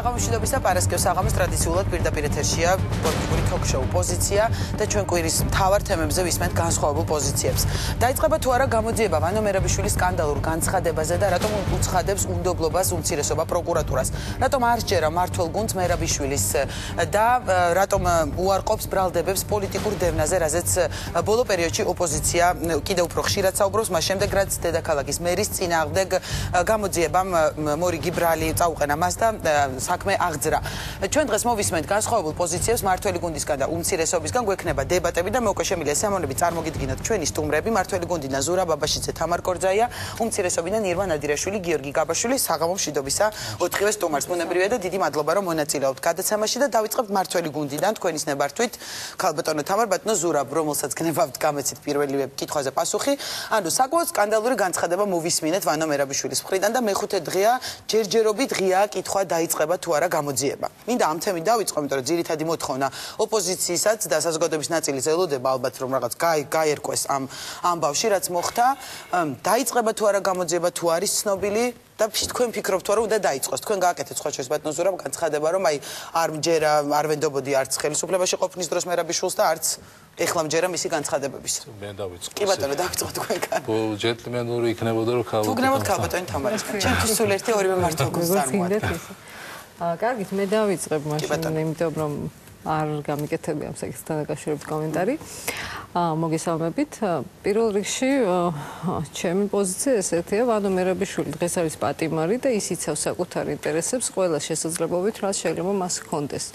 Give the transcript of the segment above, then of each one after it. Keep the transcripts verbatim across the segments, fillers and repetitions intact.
საღამოშიდობის და პარასკევს საღამოს ტრადიციულად პირდაპირ ეთერშია პოლიტიკური თოქ-შოუ პოზიცია და ჩვენ კვირის მთავარ თემებზე ვისმენთ განსხვავებულ პოზიციებს. დაიწყება თუ არა გამოძიება ვანო მერაბიშვილის სკანდალურ განცხადებაზე და რატომ უცხადებს უნდობლობას უმცირესობა პროკურატურას. რატომ არ სჯერა მმართველ გუნდს მერაბიშვილის და რატომ უარყოფს ბრალდებებს პოლიტიკურ დევნაზე, რაზეც ბოლო პერიოდში ოპოზიცია კიდევ უფრო ხშირად საუბრობს, მას შემდეგ რაც დედაქალაქის მერის წინააღმდეგ გამოძიებამ მორიგი ბრალი წაუყენა მას და საქმე აღძრა. ჩვენ დღეს მოვისმენთ განსხვავებულ პოზიციებს მმართველი გუნდისგან და უმცირესობისგან, გვექნება დებატები და მე უკვე შემიძლია სიამოვნებით წარმოგიდგინოთ ჩვენი სტუმრები. მმართველი გუნდიდან ზურაბ აბაშიძე, თამარ კორძაია, უმცირესობიდან ირმა ნადირაშვილი, გიორგი გაბაშვილი, საღამო მშვიდობისა ოთხივე სტუმარს. ბუნებრივია და დიდი მადლობა რომ მონაწილეობთ გადაცემაში და დავიწყებთ მმართველი გუნდიდან თქვენის ნებართვით. ქალბატონო თამარ, ბატონო ზურაბ, რომელსაც გნებავთ გამეცით პირველივე კითხვაზე პასუხი. ანუ საკმაოდ სკანდალური განცხადება მოვისმინეთ ვანო მერაბიშვილის მხრიდან და მეხუთე დღეა ჯერჯერობით ღია კითხვა დაიწყება თუ არა გამოძიება. მინდა ამ თემით დავიწყო, იმიტომ რომ ძირითადი მოთხოვნა ოპოზიციისაც და საზოგადოების ნაწილის ელოდება ალბათ რომ რაღაც გაერკვეს ამ ამბავში, რაც მოხდა. დაიწყება თუ არა გამოძიება, თუ არის ცნობილი და თქვენ ფიქრობთ თუ არა უნდა დაიწყოს. თქვენ გააკეთეთ სხვა შორის ბატონო ზურაბ განცხადება, რომ აი არ მჯერა, არ ვენდობოდი არც ხელისუფლებაში ყოფნის დროს მერაბიშვილს და არც ეხლა მჯერა მისი განცხადებების. მე დავიწყო. კი ბატონო, დავიწყო თქვენგან. ბო ჯენტლმენური იქნებოდა რომ ქალბატონი. თუ გნებოთ ქალბატონი თამარისგან. ჩვენთვის სულ ერთი ორივე მმართველ გუნდს წარმოადგენთ. აა, კარგით, მე დავიწყებ მაშინ, იმიტომ რომ არ გამიკეთებია ამ საკითხთან დაკავშირებით კომენტარი. აა, მოგესალმებით. პირველ რიგში ჩემი პოზიცია ესეთია, ვანო მერაბიშვილი დღეს არის პატიმარი და ის იცავს საკუთარ ინტერესებს ყველა შესაძლებლობით, რაც შეიძლება მას ჰქონდეს.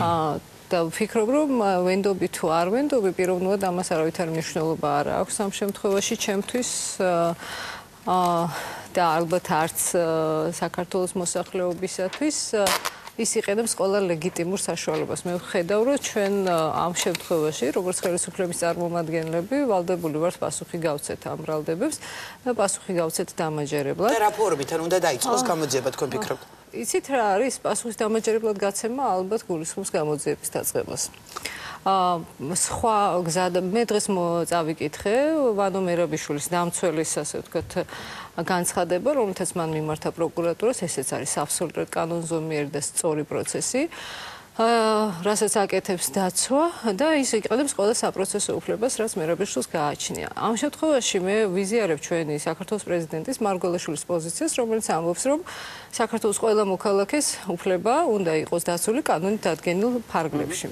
აა და ვფიქრობ, რომ ვენდობი თუ არ ვენდობი, პიროვნულად ამას არავითარი მნიშვნელობა არ აქვს ამ შემთხვევაში ჩემთვის. აა და ალბათ არც საქართველოს მოსახლეობისათვის ის იყენებს ყველა ლეგიტიმურ საშუალებას. მე ვხედავ, რომ ჩვენ ამ შემთხვევაში, როგორც ხელისუფლების წარმომადგენლები, ვალდებული ვართ პასუხი გავცეთ ამ ბრალდებებს და პასუხი გავცეთ დამაჯერებლად. და რა ფორმით ან უნდა დაიწყოს გამოძიება, თქვენ ფიქრობთ? იცით რა არის პასუხის დამაჯერებლად გაცემა, ალბათ გულისხმობს გამოძიების დაწყებას. აა სხვა გზა მე დღეს წავიკითხე ვანო მერაბიშვილის დამცველის, ასე ვთქვათ, განცხადება, რომელთაც მან მიმართა პროკურატურას, ესეც არის აბსოლუტურად კანონზომიერი და სწორი პროცესი. აა რასაც აკეთებს დაცვა და ის იყენებს ყველა საპროცესო უფლებას, რაც მერაბიშვილს გააჩნია. ამ შემთხვევაში მე ვიზიარებ ჩვენი საქართველოს პრეზიდენტის მარგველაშვილის პოზიციას, რომელიც ამბობს, რომ საქართველოს ყველა მოქალაქეს უფლება უნდა იყოს დაცული კანონით დადგენილ ფარგლებში.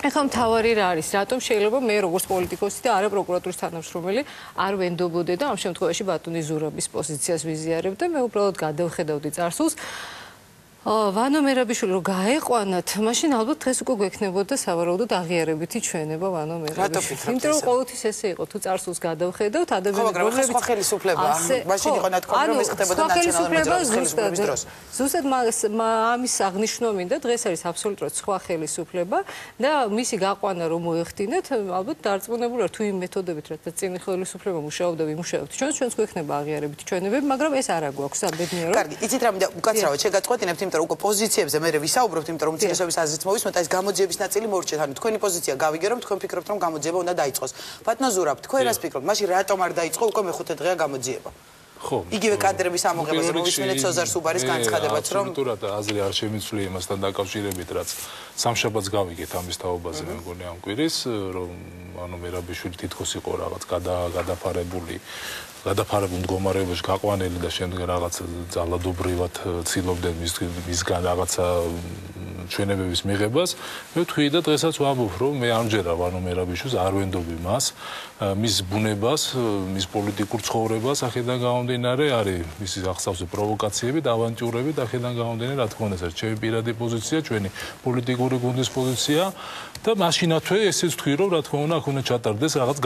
ეხლა მთავარი რა არის, რატომ შეიძლება მე როგორც პოლიტიკოსი და არა პროკურატურის თანამშრომელი არ ვენდობოდე და ამ შემთხვევაში ბატონი ზურაბის პოზიციას ვიზიარებ და მე უბრალოდ გადავხედავდი წარსულს. ვანო მერაბიშვილი რომ გაეყვანათ, მაშინ ალბათ დღეს უკვე გვექნებოდა სავარაუდოდ აღიარებითი ჩვენება ვანო მერაბიშვილს. იმიტომ რომ ყოველთვის ესე იყო, თუ წარსულს გადავხედავთ, ადამიანები რომლებიც სხვა ხელისუფლებაა, მაშინ იყო ნათქვამი რომ ეს ხდებოდა ნაციონალური ხელისუფლების დროს. ზუსტად ამის აღნიშვნა მინდა, დღეს არის აბსოლუტურად სხვა ხელისუფლება და მისი გაყვანა რომ მოეხდინეთ, ალბათ დარწმუნებული ვარ თუ იმ მეთოდებით, რაც წინ ხელისუფლება მუშაობდა, ვიმუშაებთ. ჩვენს ჩვენს გვექნება აღიარებითი ჩვენებები, მაგრამ ეს არა გვაქვს საბედნიერო. კარგი, იცით რა მინდა უკაცრავად შეგაწყვეტინებთ, იმიტომ რომ უკვე პოზიციებზე მე ვისაუბრობთ, იმიტომ რომ უმცირესობის აზრით მოვისმენთ, ეს გამოძიების ნაწილი მორჩეთ. ანუ თქვენი პოზიცია გავიგე, რომ თქვენ ფიქრობთ, რომ გამოძიება უნდა დაიწყოს. ბატონო ზურაბ, თქვენ რას ფიქრობთ? მაშინ რატომ არ დაიწყო უკვე მეხუთე დღეა გამოძიება? ხო, იგივე კადრების ამოღებაზე მოვისმენთ სოზარ სუბარის განცხადებაც, რომ აბსოლუტურად აზრი არ შემიცვლი იმასთან დაკავშირებით, რაც სამშაბათს გავიგეთ ამის თაობაზე, მე მგონი ამ კვირის, რომ ანუ მერაბიშვილი თითქოს იყო რაღაც გადაფარებული გადაფარებულ მდგომარეობაში გაყვანილი და შემდეგ რაღაც ძალადობრივად ცდილობდნენ მისგან რაღაცა ჩვენებების მიღებას. მე ვთქვი და დღესაც ვამბობ, რომ მე ამჯერა ვანო მერაბიშვილს არ ვენდობი მას, მის ბუნებას, მის პოლიტიკურ ცხოვრებას, აქედან გამომდინარე არის მისი აღსავსე პროვოკაციები და ავანტიურები და აქედან გამომდინარე, რა თქმა უნდა, ეს არის ჩემი პირადი პოზიცია, ჩვენი პოლიტიკური გუნდის პოზიცია და მაშინათვე ესეც ვთქვი, რომ რა თქმა უნდა, აქ უნდა ჩატარდეს რაღაც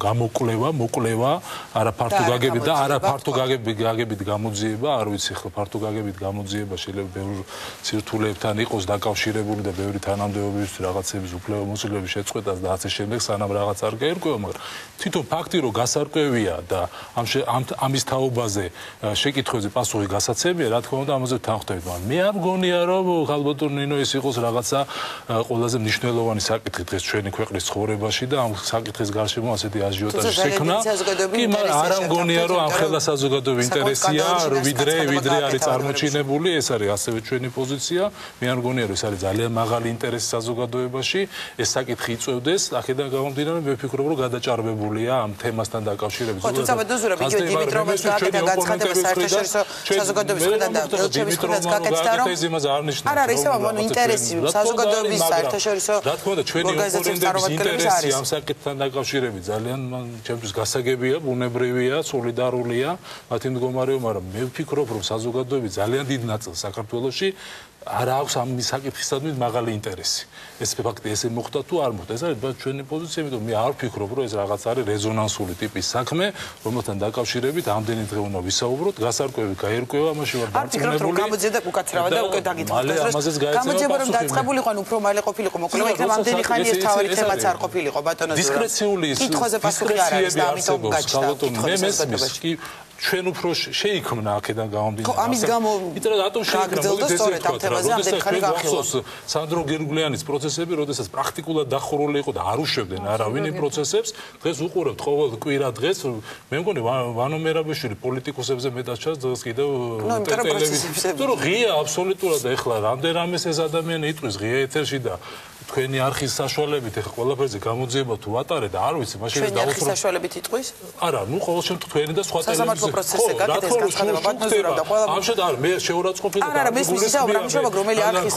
გამოკვლევა, მოკვლევა, არა ფართო გაგებით და არა ფართო გაგებით გამოძიება, არ ვიცი ხო ფართო გაგებით გამოძიება შეიძლება ბევრ სირთულეებთან იყოს დაკავშირებული და ბევრი თანამდებობის რაღაცების უფლებამოსილების შეწყვეტას და ასე შემდეგ, სანამ რაღაც არ გაერკვევა, მაგრამ თვითონ ფაქტი რომ გასარკვევია და ამ ამის თაობაზე შეკითხვებზე პასუხი გასაცემია, რა თქმა უნდა, ამაზე თანხმდებით, მაგრამ მე არ მგონია რომ ხალბატონ ნინო ეს იყოს რაღაცა ყველაზე მნიშვნელოვანი მნიშვნელოვანი საკითხი დღეს ჩვენი ქვეყნის ცხოვრებაში და ამ საკითხის გარშემო ასეთი აჟიოტაჟი შექმნა. კი, მაგრამ არ ამგონია რომ ამ ხელა საზოგადოების ინტერესია, ვიდრე ვიდრე არის წარმოჩინებული, ეს არის ასევე ჩვენი პოზიცია. მე არ მგონია რომ ეს არის ძალიან მაღალი ინტერესი საზოგადოებაში, ეს საკითხი იწევდეს, აქედან გამომდინარე მე ვფიქრობ რომ გადაჭარბებულია ამ თემასთან დაკავშირებით. ხო, თუმცა ბედნიერად იგივე დიმიტროვას გააკეთა განცხადება საერთაშორისო საზოგადოების მხრიდან და ელჩების მხრიდან გააკეთა რომ არ არის ეს ამ ინტერესი საზოგადოების საერთაშორისო რა თქმა უნდა ჩვენი ოპონენტების ინტერესი ამ საკითხთან დაკავშირებით ძალიან ჩემთვის გასაგებია, ბუნებრივია, სოლიდარულია მათი მდგომარეობა, მაგრამ მე ვფიქრობ რომ საზოგადოების ძალიან დიდ ნაწილს საქართველოში არ აქვს ამ საკითხისადმი მაღალი ინტერესი. ეს ფაქტი ესე მოხდა თუ არ მოხდა, ეს არის ჩვენი პოზიცია, იმიტომ მე არ ვფიქრობ რომ ეს რაღაც არის რეზონანსული ტიპის საქმე, რომელთან დაკავშირებით ამდენი დღე უნდა ვისაუბროთ, გასარკვევი გაერკვევა, ამაში ვარ დარწმუნებული. გამოძიeda უკაცრავად და უკვე დაგიწყდა. გამოძიება რომ დაწყებულიყო, ანუ უფრო მალე ყოფილიყო, მოკლედ იქნებ ამდენი ხანი ეს თავი თემაც არ ყოფილიყო, ბატონო ზურაბ. დისკრეციული კითხვაზე პასუხი არ არის და ამიტომ გაჩნდა. მე მესმის კი ჩვენ უფრო შეიქმნა აქედან გამომდინარე. ხო, ამის გამო იტყვა რატომ შეიქმნა? მოდით ესე ვთქვათ, სანდრო გერგულიანის პროცესები, როდესაც პრაქტიკულად დახურული იყო და არ უშვებდნენ არავინ იმ პროცესებს, დღეს უყურებთ ყოველ კვირა დღეს, მე მგონი ვანო მერაბიშვილი პოლიტიკოსებზე მეტად ჩანს დღეს კიდევ ტელევიზიაზე. თუ რომ ღია აბსოლუტურად ეხლა რამდენამეს ეს ადამიანი იტყვის ღია ეთერში და თქვენი არხის საშუალებით ეხლა ყველაფერზე გამოძიება თუ ატარეთ და არ ვიცი მაშინ დავუსრულებ. თქვენი არხის საშუალებით იტყვის? არა, ნუ ყოველ შემთხვევაში თქვენი და სხვა ტელევიზიაზე. სასამართლო პროცესზე გაკეთეს განცხადება ბატონო და ყველა ამ შედ არ მე შეურაცხყოფილი და არა, არა, მესმის ისა უბრალოდ რომელი არხის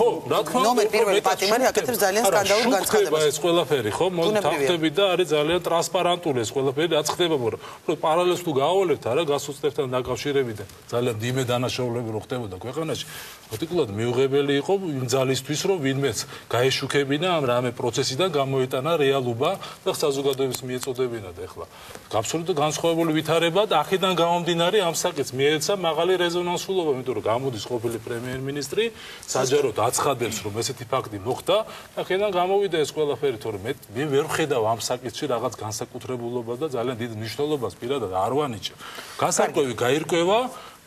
ნომერ პირველი პატიმარი აკეთებს ძალიან სკანდალურ განცხადებას. ეს ყველაფერი ხო მოთავხდები და არის ძალიან ტრანსპარენტული ეს ყველაფერი რაც ხდება, რომ პარალელს თუ გაავალებთ არა გასუცდებთან დაკავშირებით და ძალიან დიმე დანაშაულები რო ხდებოდა ქვეყანაში, პრაქტიკულად მიუღებელი იყო იმ ძალისთვის რომ ვინმეც გაეშუქებინა ამ რამე პროცესიდან გამოიტანა რეალობა და საზოგადოების მიეწოდებინა და ეხლა აბსოლუტურად განსხვავებული ვითარება და აქედან გამომდინარე ამ საკითხს მიეცა მაღალი რეზონანსულობა, იმიტომ რომ გამოდის ყოფილი პრემიერ-მინისტრი საჯაროდ აცხადებს რომ ესეთი ფაქტი მოხდა და აქედან გამოვიდა ეს ყველაფერი, თორემ მე ვერ ვხედავ ამ საკითხში რაღაც განსაკუთრებულობას და ძალიან დიდ მნიშვნელობას პირადად არ ვანიჭებ. განსაკუთრებით გაირკვევა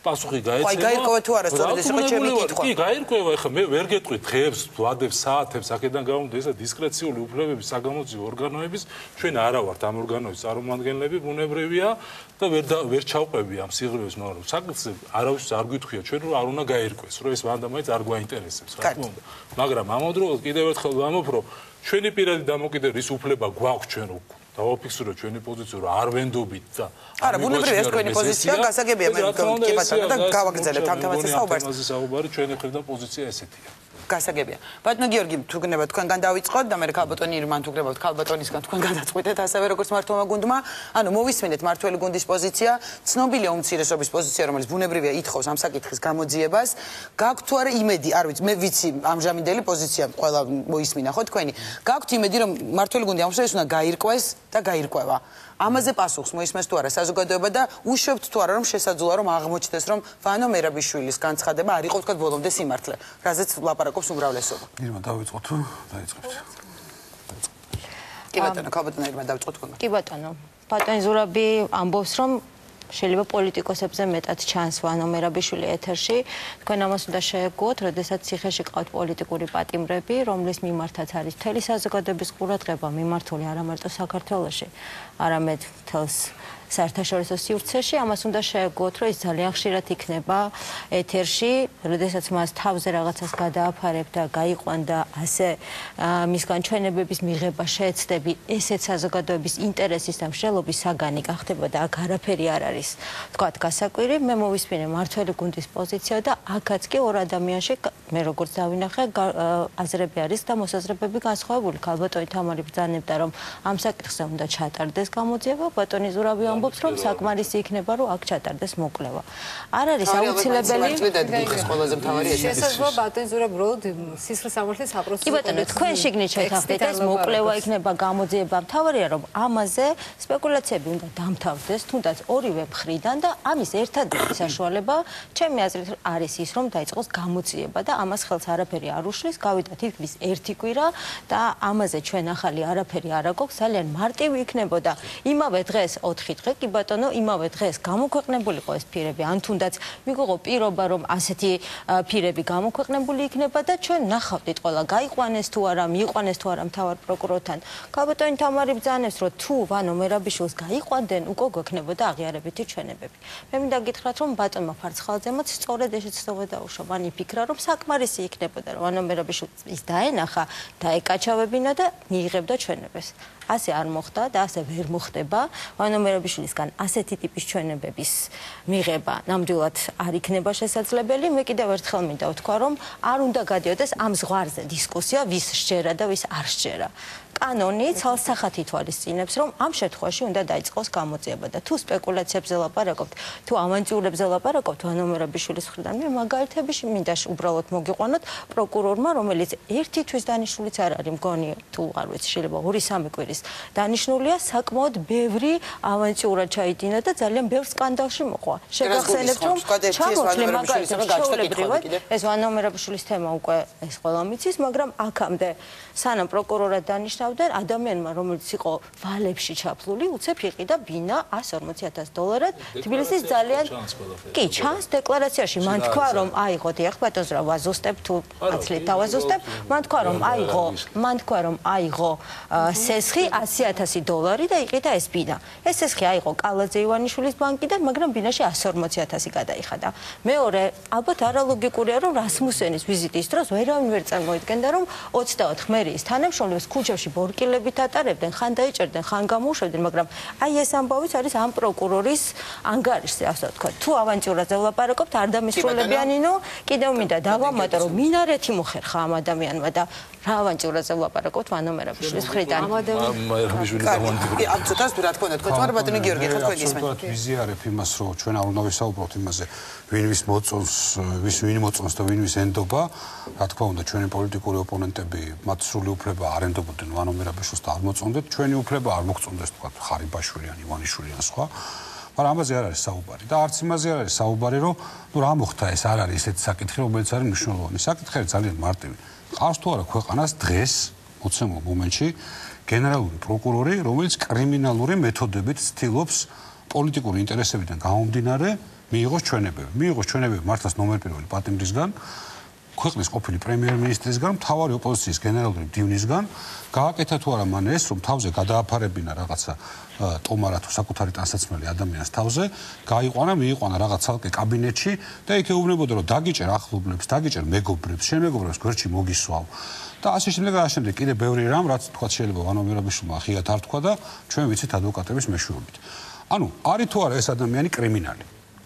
პასუხი გაეცემა. აი გაირკვევა თუ არა, სწორედ ეს იყო ჩემი კითხვა. კი, გაირკვევა, ეხლა მე ვერ გეტყვი დღეებს, ვადებს, საათებს, აქედან გამომდის ესა დისკრეციული უფლებების საგამოძიებო ორგანოების, ჩვენ არა ვართ ამ ორგანოების წარმომადგენლები, ბუნებრივია და ვერ ვერ ჩავყვები ამ სიღრმეებს, მაგრამ საკითხზე არავის არ გვითხვია ჩვენ რომ არ უნდა გაირკვეს, რომ ეს ვანდამაიც არ გვაინტერესებს, რა თქმა უნდა. მაგრამ ამავდროულად კიდევ ერთხელ ვამბობ, რომ ჩვენი პირადი დამოკიდებულის უფლება გვაქვს ჩვენ რო დავაფიქსიროთ ჩვენი პოზიცია რომ არ ვენდობით და არა ბუნებრივია ეს თქვენი პოზიცია გასაგებია მე კი ბატონო და გავაგრძელებთ ამ თემაზე საუბარს. ამაზე საუბარი ჩვენი მხრიდან პოზიცია ესეთია. გასაგებია. ბატონო გიორგი, თუ გნება თქვენგან დავიწყოთ და მე ქალბატონი ირმან თუ გნებავთ ქალბატონისგან თქვენ გადაწყვეტეთ ასევე როგორც მართლობა გუნდმა, ანუ მოვისმინეთ მართველი გუნდის პოზიცია, ცნობილია უმცირესობის პოზიცია, რომელიც ბუნებრივია ითხოვს ამ საკითხის გამოძიებას. გაქვთ თუ არა იმედი, არ ვიცი, მე ვიცი ამჟამინდელი პოზიცია ყველა მოისმინა ხო თქვენი. გაქვთ იმედი რომ მართველი გუნდი ამ შემთხვევაში უნდა გაირკვეს და გაირკვევა. ამაზე პასუხს მოისმენს თუ არა საზოგადოება და უშვებთ თუ არა რომ შესაძლოა რომ აღმოჩნდეს რომ ვანო მერაბიშვილის განცხადება არ იყო თქვა ბოლომდე სიმართლე, რაზეც ლაპარაკობს უმრავლესობა. ირმა დავიწყოთ თუ დაიწყებთ. კი ბატონო, ქალბატონი ირმა დავიწყოთ თქვენ. კი ბატონო, ბატონი ზურაბი ამბობს რომ შეიძლება პოლიტიკოსებზე მეტად ჩანს ვანო მერაბიშვილი ეთერში. თქვენ ამას უნდა შეეგუოთ, როდესაც ციხეში ყავთ პოლიტიკური პატიმრები, რომლის მიმართაც არის მთელი საზოგადოების ყურადღება მიმართული არა მარტო საქართველოში, არამედ მთელს საერთაშორისო სივრცეში. ამას უნდა შეეგუოთ, რომ ის ძალიან ხშირად იქნება ეთერში, როდესაც მას თავზე რაღაცას გადააფარებ და გაიყვან და ასე მისგან ჩვენებების მიღება შეეცდები, ესეც საზოგადოების ინტერესის და მსჯელობის საგანი გახდება და აქ არაფერი არ არის თქვათ გასაკვირი. მე მოვისმინე მართველი გუნდის პოზიცია და აქაც კი ორ ადამიანში მე როგორც დავინახე აზრები არის და მოსაზრებები განსხვავებული. ქალბატონი თამარი ბრძანებდა რომ ამ საკითხზე უნდა ჩატარდეს გამოძიება, ბატონი ზურაბი ამბობს რომ საკმარისი იქნება რომ აქ ჩატარდეს მოკვლევა. არ არის აუცილებელი შესაძლოა ბატონი ზურაბი როდ სისხლის სამართლის აპროცესო. კი ბატონო, თქვენ შიგნით შეთანხმდით ეს მოკვლევა იქნება გამოძიება, მთავარია რომ ამაზე სპეკულაციები უნდა დამთავრდეს, თუნდაც ორივე მხრიდან და ამის ერთადერთი საშუალება ჩემი აზრით არის ის რომ დაიწყოს გამოძიება და ამას ხელს არაფერი არ უშლის, გავიდა თითქმის ერთი კვირა და ამაზე ჩვენ ახალი არაფერი არ აგვაქვს, ძალიან მარტივი იქნებოდა იმავე დღეს ოთხი დღე კი ბატონო იმავე დღეს გამოქვეყნებულიყო ეს ფირები ან თუნდაც მიგოღო პირობა რომ ასეთი ფირები გამოქვეყნებული იქნება და ჩვენ ნახავდით ყველა გაიყვანეს თუ არა მიიყვანეს თუ არა მთავარ პროკურორთან კაბატონი თამარი ბრძანებს რომ თუ ვანო მერაბიშვილს გაიყვანდნენ უკვე გვექნებოდა აღიარებითი ჩვენებები მე მინდა გითხრათ რომ ბატონმა ფარცხალაძემაც სწორედ ესეც თქმა დაუშვა მან იფიქრა რომ საკმარისი იქნებოდა რომ ვანო მერაბიშვილს დაენახა დაეკაჩავებინა და მიიღებდა ჩვენებს ასე არ მოხდა და ასე ვერ მოხდება ვანო მერაბიშვილისგან ასეთი ტიპის ჩვენებების მიღება ნამდვილად არ იქნება შესაძლებელი მე კიდევ ერთხელ მინდა ვთქვა რომ არ უნდა გადიოდეს ამ ზღვარზე დისკუსია ვის სჯერა და ვის არ სჯერა კანონი ცალსახად ითვალისწინებს რომ ამ შემთხვევაში უნდა დაიწყოს გამოძიება და თუ სპეკულაციებზე ლაპარაკობთ თუ ავანტიურებზე ლაპარაკობთ ვანო მერაბიშვილის მხრიდან მე მაგალითებში მინდა უბრალოდ მოგიყვანოთ პროკურორმა რომელიც ერთი თვის დანიშნულიც არ არის მგონი თუ არ ვიცი შეიძლება ორი სამი კვირის დანიშნულია საკმაოდ ბევრი ავანტიურა ჩაიდინა და ძალიან ბევრ სკანდალში მოყვა შეგახსენებთ რომ ჩამოთვლი მაგალითად ეს ვანო მერაბიშვილის თემა უკვე ეს ყველა მიცის მაგრამ აქამდე სანამ პროკურორად დანიშნავდნენ ადამიანმა რომელიც იყო ვალებში ჩაფლული უცებ იყიდა ბინა ასი ორმოცი ათასი დოლარად თბილისის ძალიან კი ჩანს დეკლარაციაში მან თქვა რომ აიღო დიახ ბატონს რა ვაზუსტებ თუ ათლით დავაზუსტებ მან თქვა რომ აიღო მან თქვა რომ აიღო სესხი ასი ათასი დოლარი და იყიდა ეს ბინა ეს სესხი აიღო კალაძე ივანიშვილის ბანკიდან მაგრამ ბინაში ასი ორმოცი ათასი გადაიხადა მეორე ალბათ არალოგიკურია რომ რასმუსენის ვიზიტის დროს ვერავინ ვერ წარმოიდგენდა რომ ოცდაოთხ მერიის თანამშრომლებს ქუჩებში ბორკილებით ატარებდნენ ხან დაიჭერდნენ ხან გამოუშვებდნენ მაგრამ აი ეს ამბავიც არის ამ პროკურორის ანგარიშზე ასე ვთქვა თუ ავანტიურაზე ვლაპარაკობთ არ დამისრულებიანინო კიდევ მინდა დავამატო რომ მინარეთი მოხერხა ამ ადამიანმა და რა ავანტიურაზე ვლაპარაკობთ ვანო მერაბიშვილის მხრიდან მერაბიშვილის ავანტიურა ამ ცოტას რა თქმა უნდა თქვენ ბატონი გიორგი ხო თქვენ გისმენთ ვიზიარებ იმას რომ ჩვენ არ უნდა ვისაუბროთ იმაზე ვინ ვის მოწონს ვის ვინ მოწონს და ვინ ვის ენდობა რა თქმა უნდა ჩვენი პოლიტიკური ოპონენტები მათ სრული უფლება არ ენდობოდნენ ვანო მერაბიშვილს და არ მოწონდეთ ჩვენი უფლება არ მოგწონდეს თქვა ხარიბაშვილი ან ივანიშვილი ან სხვა მაგრამ ამაზე არ არის საუბარი და არც იმაზე არ არის საუბარი რომ ნუ რა მოხდა ეს არ არის ესეთი საკითხი რომელიც არის მნიშვნელოვანი საკითხი არის ძალიან მარტივი ყავს თუ არა ქვეყანას დღეს მოცემულ მომენტში გენერალური პროკურორი რომელიც კრიმინალური მეთოდებით ცდილობს პოლიტიკური ინტერესებიდან გამომდინარე მიიღოს ჩვენებები მიიღოს ჩვენებები მართლაც ნომერ პირველი პატიმრისგან ქვეყნის ყოფილი პრემიერ-მინისტრისგან მთავარი ოპოზიციის გენერალური მდივნისგან გააკეთა თუ არა მან ეს რომ თავზე გადააფარებინა რაღაცა ტომარა თუ საკუთარი ტანსაცმელი ადამიანის თავზე გაიყვანა მიიყვანა რაღაც ცალკე კაბინეტში და იქ ეუბნებოდა რომ დაგიჭერ ახლობლებს დაგიჭერ მეგობრებს შენ მეგობრებს გვერდში მოგისვავ და ასე შემდეგ და ასე შემდეგ კიდე ბევრი რამ რაც თქვა შეიძლება ვანო მერაბიშვილმა ხიათ არ თქვა და ჩვენ ვიცით ადვოკატების მეშვეობით ანუ არის თუ არა ეს ადამიანი კრიმინალი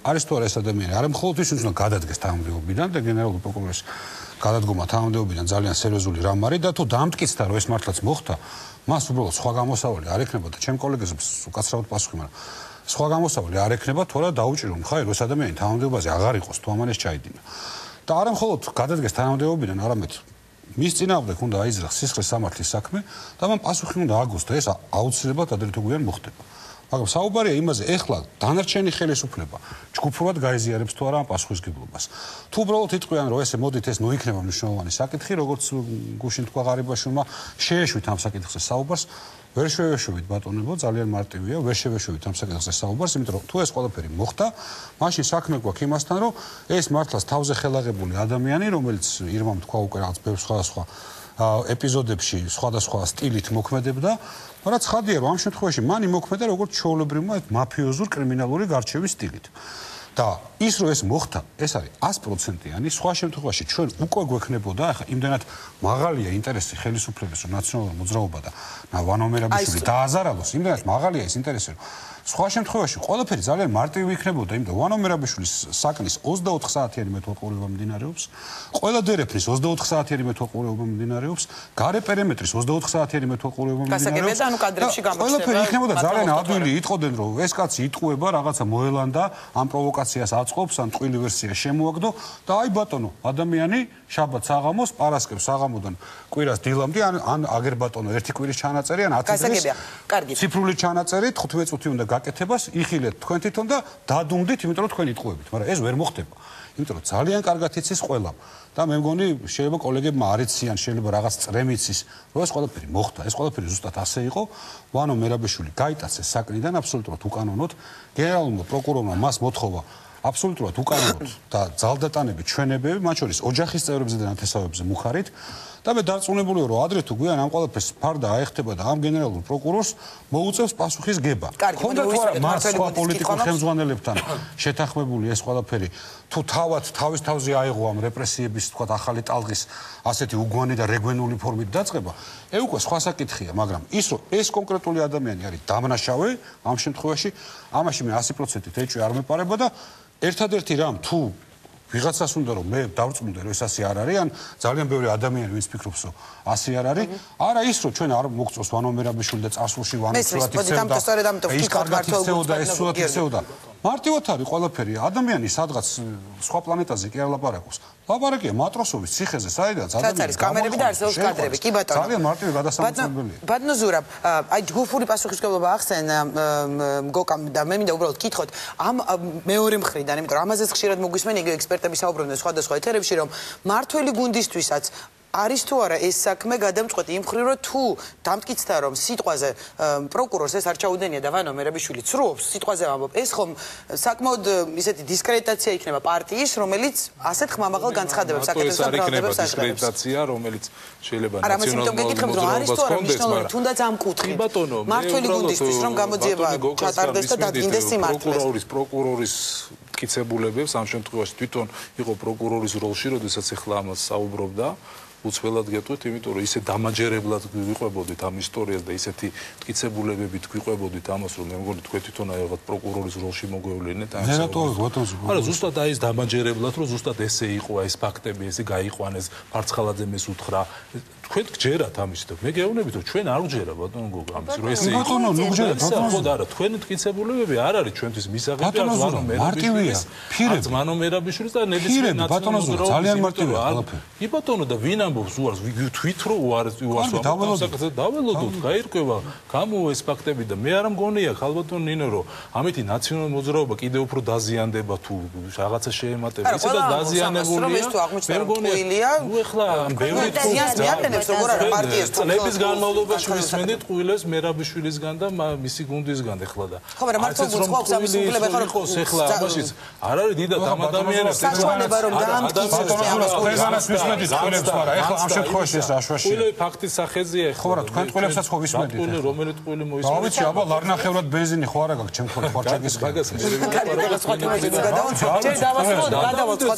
არის თუ არა ეს ადამიანი არა მხოლოდ ის უნდა გადადგეს თანამდებობიდან და გენერალური პროკურორის გადადგომა თანამდებობიდან ძალიან სერიოზული რამ არის და თუ დამტკიცდა რომ ეს მართლაც მოხდა მას უბრალოდ სხვა გამოსავალი არ ექნება და ჩემ კოლეგებს უკაცრავად პასუხი მაგრამ სხვა გამოსავალი არ ექნება თუ არა დაუჭირო ხაი რომ ეს ადამიანი თანამდებობაზე აღარ იყოს თუ ამან ეს ჩაიდინა და არა მხოლოდ გადადგეს თანამდებობიდან არამედ მის წინააღმდეგ უნდა აიზრახოს სისხლის სამართლის საქმე და მან პასუხი უნდა აგოს და ეს აუცილებლად ადრე თუ გვიან მოხდება მაგრამ საუბარია იმაზე ეხლა დანარჩენი ხელისუფლება ჯგუფურად გაიზიარებს თუ არა ამ პასუხისგებლობას თუ უბრალოდ იტყვიან რომ ესე მოდით ეს ნუ იქნება მნიშვნელოვანი საკითხი როგორც გუშინ თქვა ღარიბაშვილმა შეეშვით ამ საკითხზე საუბარს ვერ შევეშვით ბატონებო ძალიან მარტივია ვერ შევეშვით ამ საკითხზე საუბარს იმიტომ რომ თუ ეს ყველაფერი მოხდა მაშინ საქმე გვაქვს იმასთან რომ ეს მართლაც თავზე ხელაღებული ადამიანი რომელიც ირმამ თქვა უკვე რაღაც ბევრ სხვადასხვა ეპიზოდებში სხვადასხვა სტილით მოქმედებდა მაგრამ ცხადია რომ ამ შემთხვევაში მან იმოქმედა როგორც ჩვეულებრივმა მაფიოზურ კრიმინალური გარჩევის სტილით და ის რომ ეს მოხდა ეს არის ათი პროცენტიანი სხვა შემთხვევაში ჩვენ უკვე გვექნებოდა ახლა იმდანაც მაღალია ინტერესი ხელისუფლების რომ ნაციონალური მოძრაობა და ვანო მერაბიშვილი დააზარალოს იმდანაც მაღალია ეს ინტერესი რომ სხვა შემთხვევაში ყველაფერი ძალიან მარტივი იქნებოდა იმიტომ ვანო მერაბიშვილის საკნის ოცდაოთხ საათიანი მეთვალყურება მიმდინარეობს ყველა დერეფნის ოცდაოთხ საათიანი მეთვალყურება მიმდინარეობს გარე პერიმეტრის ოცდაოთხ საათიანი მეთვალყურება მიმდინარეობს ანუ კადრებში გამოჩნდება ყველაფერი იქნებოდა ძალიან ადვილი იტყოდნენ რომ ეს კაცი იტყუება რაღაცა მოელანდა ამ პროვოკაციას აწყობს ან ტყვილი ვერსია შემოაგდო და აი ბატონო ადამიანი შაბათ საღამოს პარასკევს საღამოდან კვირას დილამდე ან ან აგერ ბატონო ერთი კვირის ჩანაწერი ან ათი დღის ციფრული ჩანაწერი თხუთმეტ წუთი უნდა გაკეთებას იხილეთ თქვენ თვითონ და დადუმდით, იმიტომ რომ თქვენ იტყუებით, მაგრამ ეს ვერ მოხდება. იმიტომ რომ ძალიან კარგად იცის ყველამ და მე მგონი შეიძლება კოლეგებმა არ იციან, შეიძლება რაღაც წრემიც ის, რომ ეს ყველაფერი მოხდა, ეს ყველაფერი ზუსტად ასე იყო. ვანო მერაბიშვილი გაიტაცეს საკნიდან აბსოლუტურად უკანონოდ. გენერალურმა პროკურორმა მას მოთხოვა აბსოლუტურად უკანონოდ და ძალდატანები ჩვენებები, მათ შორის ოჯახის წევრებზე და ნათესავებზე მუხარით. და მე დარწმუნებული ვარ, რომ ადრე თუ გვიან ამ ყველაფერს ფარდა აეხტება და ამ გენერალურ პროკურორს მოუწევს პასუხის გება. ხონდა თუ არა მას სხვა პოლიტიკურ ხელმძღვანელებთან შეთანხმებული ეს ყველაფერი, თუ თავად თავის თავზე აიღო ამ რეპრესიების, თქვათ, ახალი ტალღის ასეთი უგვანი და რეგვენული ფორმით დაწყება, ე უკვე სხვა საკითხია, მაგრამ ის რომ ეს კონკრეტული ადამიანი არის დამნაშავე ამ შემთხვევაში, ამაში მე ათი პროცენტით ეჭვი არ მეპარება და ერთადერთი რამ თუ ვიღაცას უნდა რომ მე დავწმუნდე რომ ეს ასე არ არის, ან ძალიან ბევრი ადამიანი ვინც ფიქრობს რომ ასე არ არის, არა ის რომ ჩვენ არ მოგწოს ვანო მერაბიშვილი და წასულში ვანო სულათი ქცევდა, ის კარგად იქცეოდა, ეს სულათი ქცევდა. მარტივად არის ყველაფერი. ადამიანი სადღაც სხვა პლანეტაზე კი არ ლაპარაკობს. ლაპარაკია მატროსოვის ციხეზე, საიდანაც ადამიანი არის კამერები და არსებობს კადრები. კი ბატონო. ძალიან მარტივი გადასამოწმებელია. ბატონო ზურაბ, აი ჯგუფური პასუხისმგებლობა ახსენ მგოკამ და მე მინდა უბრალოდ კითხოთ ამ მეორე მხრიდან, იმიტომ რომ ამაზეც ხშირად მოგვისმენ იგივე ექსპერტები საუბრობენ სხვადასხვა ეთერებში, რომ მართველი გუნდისთვისაც არის თუ არა ეს საქმე გადამწყვეტი იმ მხრივ რომ თუ დამტკიცდა რომ სიტყვაზე პროკურორს ეს არ ჩაუდენია და ვანო მერაბიშვილი ცრუობს სიტყვაზე ამბობ ეს ხომ საკმაოდ ისეთი დისკრედიტაცია იქნება პარტიის რომელიც ასეთ ხმამაღალ განცხადებებს აკეთებს და ბრალდებებს აღებს დისკრედიტაცია რომელიც შეიძლება ნაციონალური მოძრაობას თუნდაც ამ კუთხით მართველი გუნდისთვის რომ გამოძიება ჩატარდეს და დადგინდეს სიმართლეს პროკურორის პროკურორის მტკიცებულებებს ამ შემთხვევაში თვითონ იყო პროკურორის როლში როდესაც ახლა ამას საუბრობდა უცველად გეტყვით, იმიტომ რომ ისე დამაჯერებლად გვიყვებოდით ამ ისტორიას და ისეთი მტკიცებულებებით გვიყვებოდით ამას, რომ მე მგონი თქვენ თვითონ აიღოთ პროკურორის როლში მოგვევლენეთ ამ შემთხვევაში. არა, ზუსტად აი ეს დამაჯერებლად, რომ ზუსტად ესე იყო, ეს ფაქტები, ესე გაიყვანეს, ფარცხალაძემ ეს უთხრა. თქვენ გჯერათ ამის და მე გეუბნებით, რომ ჩვენ არ ვჯერა ბატონო გოგო ამის, რომ ესე იყო. ბატონო, ნუ გჯერათ, ბატონო. ხო და არა, თქვენი მტკიცებულებები არ არის ჩვენთვის მისაღები, არ ზვანო მერაბიშვილის. არ ზვანო მერაბიშვილის და ნებისმიერ ნაციონალურ ძალიან მარტივია ყველაფერი. კი ბატონო და ვინ ამბობს უარს, თვით რო უარს უარს ვამბობთ, დაველოდოთ, გაირკვევა, გამოვა ეს ფაქტები და მე არ მგონია ხალბატონ ნინო, რომ ამითი ნაციონალური მოძრაობა კიდევ უფრო დაზიანდება თუ რაღაცა შეემატება, ისე და დაზიანებულია. მე მგონია, ნუ ეხლა ამ ბევრი ზიანს როგორ არა პარტიას წლების განმავლობაში ვისმენდით ყვილეს მერაბიშვილისგან და მისი გუნდისგან ეხლა და ხო მაგრამ მართლა გულწრფობს ამის უფლება ხარ იყოს ეხლა ამაშიც არ არის დიდად ამ ადამიანებს საშუალება რომ დაამტკიცოს ამას ყველგანაც ვისმენდით ყვილებს, მაგრამ ეხლა ამ შემთხვევაში ეს აშვაშია. ყვილე ფაქტის სახეზია ეხლა. ხო რა, თქვენ ყვილებსაც ხო ვისმენდით? ყვილე რომელი ყვილე მოისმენთ? რა ვიცი, აბა ლარნახევრად ბენზინი ხო არა გაქვს ჩემ ხორჩაკის მაგას მე გადავაწყოთ სხვა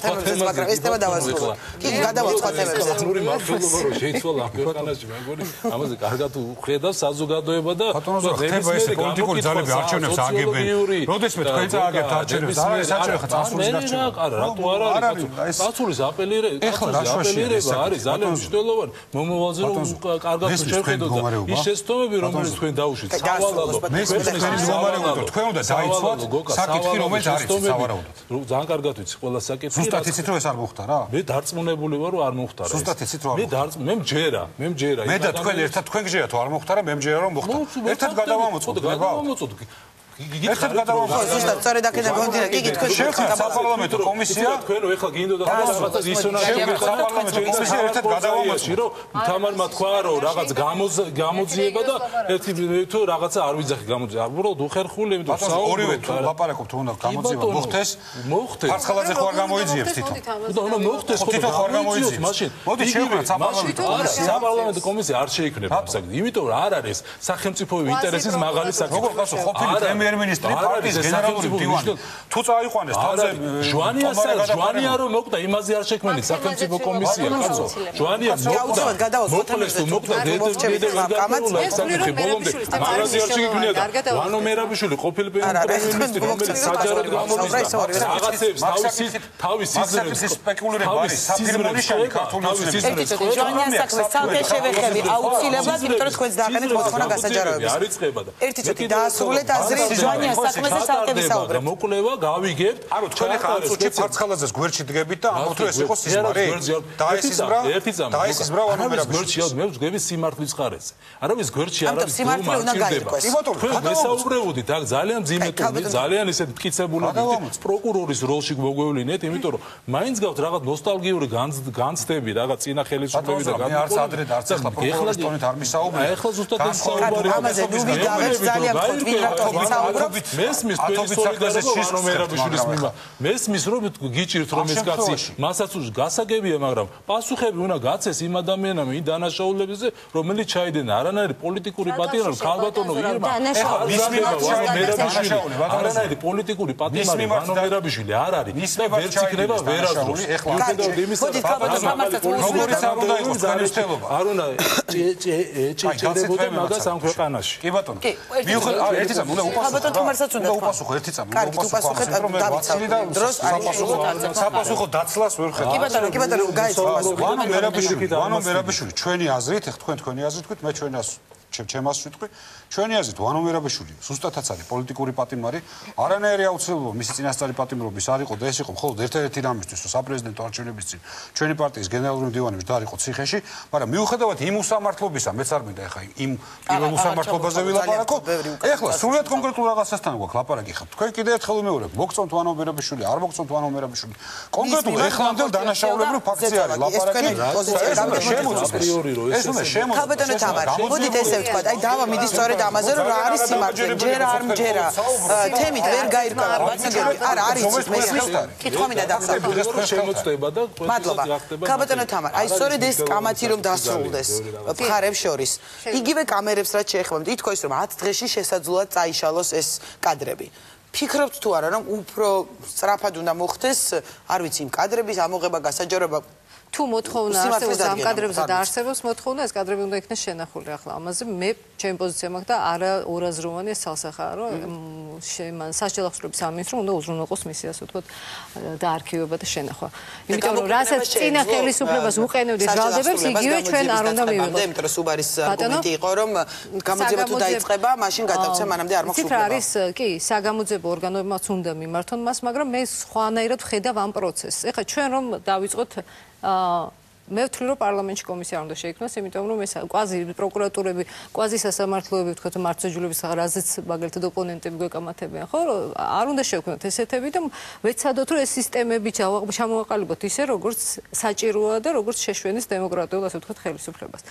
თემებზე, მაგრამ ეს თემა დავასრულოთ. კი, გადავაწყოთ თემებზე. ნური მართლობა რომ შეიცვალა ქვეყანაში, მე მგონი ამაზე კარგად უხედავს საზოგადოება და ხდება ეს პოლიტიკური ძალები არჩევნებს აგებენ. როდესმე თქვენ წააგებთ არჩევნებს, არა ეს არჩევნები წასულის არჩევნები. არა, რატო არ არის? წასულის აპელირება, აპელირება არის ძალიან მნიშვნელოვანი. მომავალზე რომ კარგად შევხედოთ ის შეცდომები, რომელიც თქვენ დაუშვით, სავალალო. მე თქვენი მდგომარეობა თქვენ უნდა დაიცვათ საკითხი, რომელიც არის სავარაუდოდ. ძალიან კარგად ვიცი ყველა საკითხი. ზუსტად იცით რომ ეს არ მოხდა რა? მე დარწმუნებული ვარ რომ არ მოხდა რა. ზუსტად იცით რომ არ მოხდა. მე მე მჯერა, მე მჯერა. მე და თქვენ ერთად თქვენ გჯერათ რომ არ მოხდა რა, მე მჯერა რომ მოხდა. ერთად გადავამოწოთ, გადავამოწოთ. ერთად გადავამოწოთ. ზუსტად სწორედ აქედან გონდირა, კი კი თქვენ შევხვდით საპარლამენტო კომისია. თქვენ ეხლა გინდოდა რაღაცა დისონანსი საპარლამენტო კომისია ერთად გადავამოწოთ, რომ თამარმა თქვა რომ რაღაც გამოძიება და ერთი თუ რაღაცა არ ვიძახი გამოძიება. უბრალოდ უხერხული, იმიტომ რომ ორივე თუ ლაპარაკობთ უნდა გამოძიება მოხდეს. მოხდეს. ფარცხალაძე ხო არ გამოიძიებს თვითონ. და მოხდეს ხო თვითონ ხო არ გამოიძიებს მაშინ. მოდი შევხვდით საპარლამენტო კომისია. საპარლამენტო კომისია არ შეიქმნება ამ საკითხი, იმიტომ რომ არ არის სახელმწიფოების ინტერესის მაღალი საკითხი. როგორ გასო ყოფილი პრემიერ-მინისტრი პარტიის გენერალური მდივანი თუ წაიყვანეს თავზე ჟვანიასა ჟვანია რომ მოკვდა იმაზე არ შექმნით სახელმწიფო კომისია კაცო ჟვანია მოკვდა მოკლეს თუ მოკვდა დედე გამაცდა საკითხი ბოლომდე მაგაზე არ შექმნია და ვანო მერაბიშვილი ყოფილი პრემიერ-მინისტრი რომელიც საჯაროდ გამომისდა რაღაცებს თავისი თავისი სიზმრის სპეკულირება არის საფირმონიშანი ქართული ოცნების ჟვანიას საქმე ცალკე შევეხები აუცილებლად იმიტომ რომ თქვენს დააყენეთ მოთხოვნა გასაჯაროების არ იწყება და ერთი წუთი დაასრულეთ აზრი ზვანია საქმეზე სალტები საუბრობთ. მოკვლევა გავიგებთ. ანუ თქვენ ახლა ამ წუთში ფარცხალაძეს გვერდში დგებით და ამბობთ რომ ეს იყო სიზმარი. დაესიზმრა, დაესიზმრა ანუ მერაბიშვილი. მე ვსგები სიმართლის ხარეზე. არავის გვერდში არ არის სიმართლე უნდა გაიყვეს. თქვენ მესაუბრებოდით, აქ ძალიან მძიმე ტონი, ძალიან ისეთ მტკიცებულებით პროკურორის როლში მოგვევლინეთ, იმიტომ რომ მაინც გავთ რაღაც ნოსტალგიური განცდები, რაღაც წინა ხელისუფლების და მე არც ადრე და არც ახლა პროკურორის ტონით არ მისაუბრე. ახლა ზუსტად ეს საუბარი ამაზე ნუ ვიგავებს ძალიან ფოთ ვინ რატომ საუბრობთ. მესმის თქვენი სოლიდარობა ანუ მერაბიშვილის მიმართ. მესმის რომ გიჭირთ რომ ეს კაცი მასაც გასაგებია, მაგრამ პასუხები უნდა გაცეს იმ ადამიანამ იმ დანაშაულებებზე, რომელიც ჩაიდენა არანაირი პოლიტიკური პატიმარი ქალბატონო ირმა. ეხლა მის მიმართ მერაბიშვილი არანაირი პოლიტიკური პატიმარი ვანო მერაბიშვილი არ არის და ვერც იქნება ვერასდროს. ეხლა მიუხედავად იმისა რომ როგორიც არ უნდა იყოს განსხვავება. არ უნდა ჭეჭელებოდა მაგას ამ ქვეყანაში. კი ბატონო. მიუხედავად ერთი წამი უნდა უპასუხო. ბატონო თუმარსაც უნდა უპასუხო ერთი წამი. კარგი, უპასუხეთ დროს საპასუხო საპასუხო დაცლას ვერ ხედავ. კი ბატონო, კი ბატონო, გაიწყო. ვანო მერაბიშვილი, ვანო მერაბიშვილი, ჩვენი აზრით, ეხ თქვენ თქვენი აზრით თქვით, მე ჩვენას ჩემას ვიტყვი, ჩვენი აზრით ვანო მერაბიშვილი ზუსტადაც არის პოლიტიკური პატიმარი, არანაირი აუცილებლობა მისი წინასწარი პატიმრობის არ იყო და ეს იყო მხოლოდ ერთ-ერთი რამისთვის, რომ საპრეზიდენტო არჩევნების წინ ჩვენი პარტიის გენერალური მდივანი ვდარიყო ციხეში, მაგრამ მიუხედავად იმ უსამართლობისა, მეც არ მინდა ეხა იმ პირველ უსამართლობაზე ვილაპარაკო. ეხლა სრულად კონკრეტულ რაღაცასთან გვაქვს ლაპარაკი ხა. თქვენ კიდევ ერთხელ ვიმეორებ, მოგწონთ ვანო მერაბიშვილი, არ მოგწონთ ვანო მერაბიშვილი. კონკრეტულ ეხლამდელ დანაშაულებრივ ფაქტზე არის ლაპარაკი. ეს უნდა შემოწმოს. ხალბატონო თამარ, მოდით ესე ვთქვა, აი დავა მიდის სწორედ ამაზე, რომ რა არის სიმართლე, ჯერ არ მჯერა. თემით ვერ გაირკვევა, ბაცნაგები. არა, არის მესმის. კითხვა მინდა დასახელოს. შემოწდება და მადლობა. ხალბატონო თამარ, აი სწორედ ეს კამათი რომ დასრულდეს მხარებს შორის. იგივე კამერებს რაც შეეხებათ, ითქვა ის რომ ათ დღეში შესაძლოა წაიშალოს ეს კადრები. ფიქრობთ თუ არა რომ უფრო სწრაფად უნდა მოხდეს, არ ვიცი, იმ კადრების ამოღება, გასაჯაროება თუ მოთხოვნა არსებობს ამ კადრებზე და არსებობს მოთხოვნა, ეს კადრები უნდა იქნეს შენახული ახლა. ამაზე მე ჩემი პოზიცია მაქვს და არა ორაზროვანი ეს ცალსახაა, რომ მან სასჯელ ახსნების სამინისტრომ უნდა უზრუნველყოს მისი ასე ვთქვათ და არქივება და შენახვა. იმიტომ რომ რასაც წინა ხელისუფლებას უყენებდეს ჟალდებებს, იგივე ჩვენ არ უნდა მივიღოთ. იმიტომ რომ სუბარის არგუმენტი იყო, რომ გამოძიება თუ დაიწყება, მაშინ გადავცე მანამდე არ მოხსულა. ციფრა არის, კი, საგამოძიებო ორგანოებმაც უნდა მიმართონ მას, მაგრამ მე სხვანაირად ვხედავ ამ პროცესს. ეხლა ჩვენ რომ დავიწყოთ მე ვთვლი რომ პარლამენტში კომისია უნდა შეიქმნას, იმიტომ რომ ეს კვაზი პროკურატურები, კვაზი სასამართლოები, ვთქვათ, მართლმსაჯულების რაზეც მაგალითად ოპონენტები გვეკამათებიან, ხო? არ უნდა შევქმნათ ესეთები და ვეცადოთ რომ ეს სისტემები ჩამოვაყალიბოთ ისე, როგორც საჭიროა და როგორც შეშვენის დემოკრატიულ, ასე ვთქვათ, ხელისუფლებას.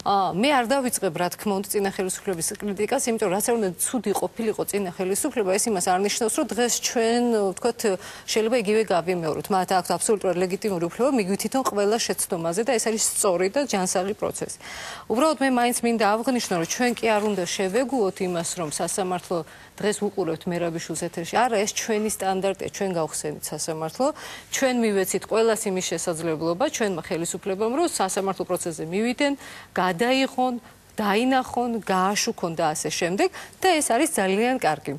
მე არ დავიწყებ, რა თქმა უნდა, წინა ხელისუფლების კრიტიკას, იმიტომ რომ რაც არ უნდა ცუდი ყოფილიყო წინა ხელისუფლება, ეს იმას არ ნიშნავს, რომ დღეს ჩვენ, ვთქვათ, შეიძლება იგივე გავიმეოროთ. მათ აქვთ აბსოლუტურად ლეგიტიმური უფლება მიგვითითონ ყველა შეცდომაზე და ეს არის სწორი და ჯანსაღი პროცესი. უბრალოდ მე მაინც მინდა აღვნიშნო, რომ ჩვენ კი არ უნდა შევეგუოთ იმას, რომ სასამართლო დღეს უყურებთ მერაბიშვილს ეთერში. არა, ეს ჩვენი სტანდარტია, ჩვენ გავხსენით სასამართლო, ჩვენ მივეცით ყველას იმის შესაძლებლობა, ჩვენმა ხელისუფლებამ, რომ სასამართლო პროცესზე მივიდნენ, გადაიღონ, დაინახონ, გააშუქონ და ასე შემდეგ და ეს არის ძალიან კარგი.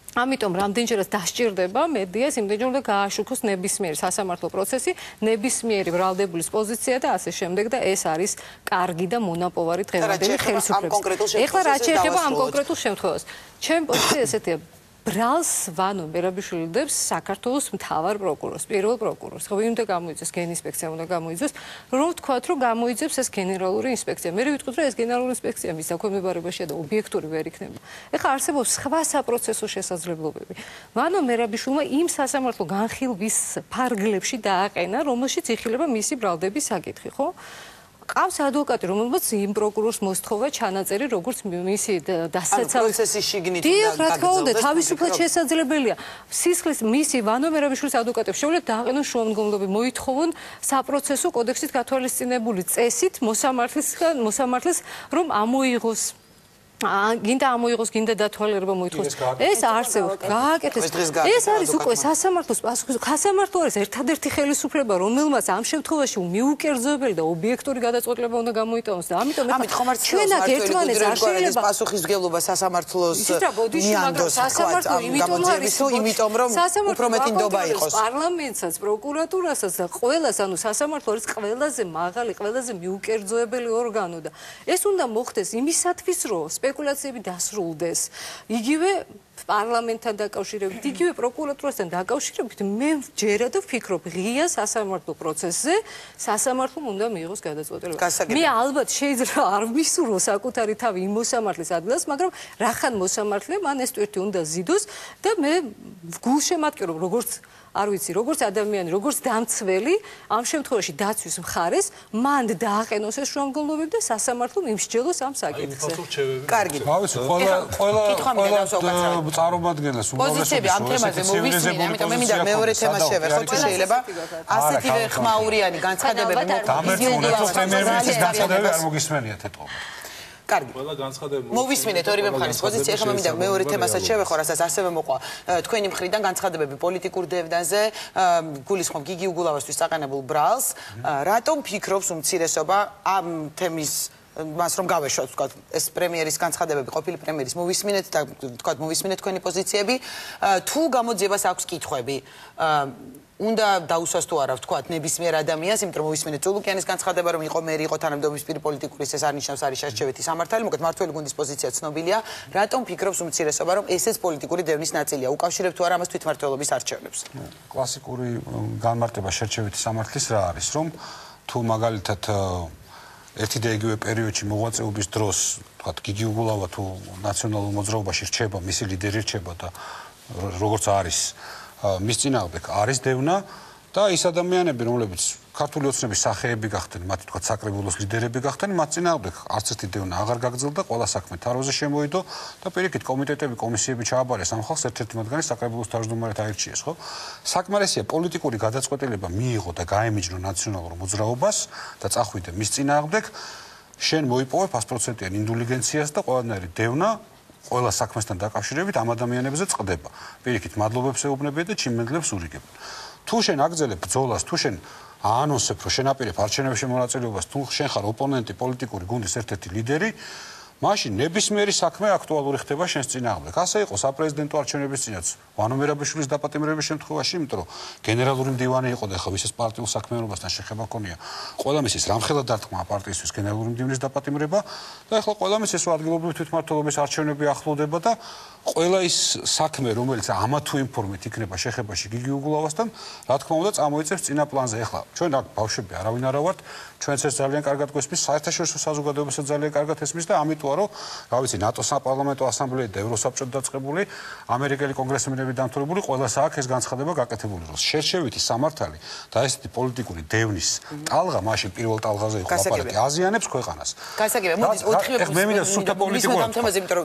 ამიტომ რამდენჯერაც დასჭირდება მედიას, იმდენჯერ უნდა გააშუქოს ნებისმიერი სასამართლო პროცესი, ნებისმიერი ბრალდებულის პოზიცია და ასე შემდეგ და ეს არის კარგი და მონაპოვარი დღევანდელი ხელისუფლების. ეხლა რაც შეეხება ამ კონკრეტულ შემთხვევას, ჩემი პოზიცია ესეთია. ბრალს ვანო მერაბიშვილი დებს საქართველოს მთავარ პროკურორს, პირველ პროკურორს. ხო, ვინ უნდა გამოიძეს, გენინსპექცია უნდა გამოიძეს, რომ ვთქვათ, რომ გამოიძებს ეს გენერალური ინსპექცია. მე ვიტყვით, რომ ეს გენერალური ინსპექცია მის დაქვემდებარებაშია და ობიექტური ვერ იქნება. ეხლა არსებობს სხვა საპროცესო შესაძლებლობები. ვანო მერაბიშვილმა იმ სასამართლო განხილვის ფარგლებში დააყენა, რომელშიც იხილება მისი ბრალდების საკითხი, ხო? ყავს ადვოკატი, რომელმაც იმ პროკურორს მოსთხოვა ჩანაწერი, როგორც მისი დასაცავი პროცესის შიგნით და რა თქმა უნდა, თავისუფლად შესაძლებელია. სისხლის მისი ვანო მერაბიშვილის ადვოკატებს შეუძლიათ დააყენონ შუამდგომლობები, მოითხოვონ საპროცესო კოდექსით გათვალისწინებული წესით მოსამართლისგან, მოსამართლეს რომ ამოიღოს გინდა ამოიღოს, გინდა დათვალიერება მოითხოვოს. ეს არსებობს, გააკეთეს. ეს არის უკვე სასამართლოს პასუხი. სასამართლო არის ერთადერთი ხელისუფლება, რომელმაც ამ შემთხვევაში მიუკერძოებელი და ობიექტური გადაწყვეტილება უნდა გამოიტანოს და ამიტომ ჩვენ აქ ერთმანეთს არ შეიძლება პასუხისმგებლობა სასამართლოს მიანდოს, სასამართლო იმიტომ არის, იმიტომ რომ უფრო მეტი ნდობა იყოს. პარლამენტსაც, პროკურატურასაც და ყველას, ანუ სასამართლო არის ყველაზე მაღალი, ყველაზე მიუკერძოებელი ორგანო და ეს უნდა მოხდეს იმისათვის, რომ სპეკულაციები დასრულდეს. იგივე პარლამენტთან დაკავშირებით, იგივე პროკურატურასთან დაკავშირებით, მე ჯერად ვფიქრობ, ღია სასამართლო პროცესზე სასამართლომ უნდა მიიღოს გადაწყვეტილება. მე ალბათ შეიძლება არ ვისურვო საკუთარი თავი იმ მოსამართლის ადგილას, მაგრამ რახან მოსამართლე მან ეს ტვირთი უნდა ზიდოს და მე გულშემატკივრობ როგორც არ ვიცი, როგორც ადამიანი, როგორც დამცველი, ამ შემთხვევაში დაცვის მხარეს, მან დააყენოს ეს შრომგულობები და სასამართლომ იმსჯელოს ამ საკითხზე. კარგი. ავიცი, ყველა ყველა ყველა წარმომადგენელს პოზიციები ამ თემაზე მოვისმინე, ამიტომ მე მინდა მეორე თემას შევეხო, თუ შეიძლება ასეთივე ხმაურიანი განცხადებები მოგიზიოდოს პრემიერ-მინისტრის განცხადებები არ მოგისმენიათ ეთყობა. კარგი. ყველა განცხადება მოვისმინეთ ორივე მხარის პოზიცია, ეხლა მე მინდა მეორე თემასაც შევეხო, რასაც ასევე მოყვა თქვენი მხრიდან განცხადებები პოლიტიკურ დევდანზე, გულისხმობ გიგი უგულავასთვის საყენებულ ბრალს, რატომ ფიქრობს უმცირესობა ამ თემის მას რომ გავეშვათ, ვთქვათ, ეს პრემიერის განცხადებები, ყოფილი პრემიერის მოვისმინეთ და ვთქვათ, მოვისმინეთ თქვენი პოზიციები, თუ გამოძიებას აქვს კითხვები, უნდა დაუსვას თუ არა, ვთქვათ, ნებისმიერ ადამიანს, იმიტომ რომ მოვისმინეთ წულუკიანის განცხადება, რომ იყო მერი, იყო თანამდებობის პოლიტიკური, ეს არ ნიშნავს არის შერჩევითი სამართალი, მოკლედ მართველი გუნდის პოზიცია ცნობილია, რატომ ფიქრობს უმცირესობა, რომ ესეც პოლიტიკური დევნის ნაწილია, უკავშირებთ თუ არა ამას თვითმმართველობის არჩევნებს? კლასიკური განმარტება შერჩევითი სამართლის რა არის, რომ თუ მაგალითად ერთი და იგივე პერიოდში მოღვაწეობის დროს, ვთქვათ, გიგი უგულავა თუ ნაციონალურ მოძრაობაში რჩება, მისი ლიდერი რჩება და როგორც არის მის წინააღმდეგ არის დევნა და ის ადამიანები, რომლებიც ქართული ოცნების სახეები გახდნენ, მათი თქვა საკრებულოს ლიდერები გახდნენ, მათ წინააღმდეგ არც ერთი დევნა აღარ გაგრძელდა, ყველა საქმე თაროზე შემოიდო და პირიქით კომიტეტები, კომისიები ჩააბარეს ამ ხალხს, ერთ-ერთი მათგანი საკრებულოს თავმჯდომარედ აირჩიეს, ხო? საკმარისია პოლიტიკური გადაწყვეტილება მიიღო და გაემიჯნო ნაციონალურ მოძრაობას და წახვიდე მის წინააღმდეგ, შენ მოიპოვე ათპროცენტიან ინდულიგენციას და ყველანაირი დევნა ყველა საქმესთან დაკავშირებით ამ ადამიანებზე წყდება. პირიქით მადლობებს ეუბნებიან და ჩიმენდლებს ურიგებენ. თუ შენ აგრძელებ ბრძოლას, თუ შენ აანონსებ, რომ შენ აპირებ არჩევნებში მონაწილეობას, თუ შენ ხარ ოპონენტი პოლიტიკური გუნდის ერთ-ერთი ლიდერი, მაშინ ნებისმიერი საქმე აქტუალური ხდება შენს წინააღმდეგ. ასე იყო საპრეზიდენტო არჩევნების წინაც ვანო მერაბიშვილის დაპატიმრების შემთხვევაში, იმიტომ რომ გენერალური მდივანი იყო და ხა ვისაც პარტიულ საქმიანობასთან შეხება ჰქონია. ყველა მისის რამხელა დარტყმა პარტიისთვის გენერალური მდივნის დაპატიმრება და ახლა ყველა მისის ადგილობრივი თვითმმართველობის არჩევნები ახლოვდება და ყველა ის საქმე, რომელიც ამა თუ იმ ფორმით იქნება შეხებაში გიგი უგულავასთან, რა თქმა უნდა, წამოიწევს წინა პლანზე. ახლა ჩვენ აქ ბავშვები არავინ არა ვართ, ჩვენც ეს ძალიან კარგად გვესმის, საერთაშორისო საზოგადოებასაც ძალიან კარგად ესმის და ამიტომ რომ, რა ვიცი, ნატოს საპარლამენტო ასამბლეა და ევროსაბჭოთი დაწყებული, ამერიკელი კონგრესმენები დამთავრებული, ყველას აქვს ეს განცხადება გაკეთებული, რომ შერჩევითი სამართალი და ესეთი პოლიტიკური დევნის ტალღა, მაშინ პირველ ტალღაზე იყო ლაპარაკი, აზიანებს ქვეყანას. გასაგებია, მოდი ოთხი მე მინდა სულთა პოლიტიკურად.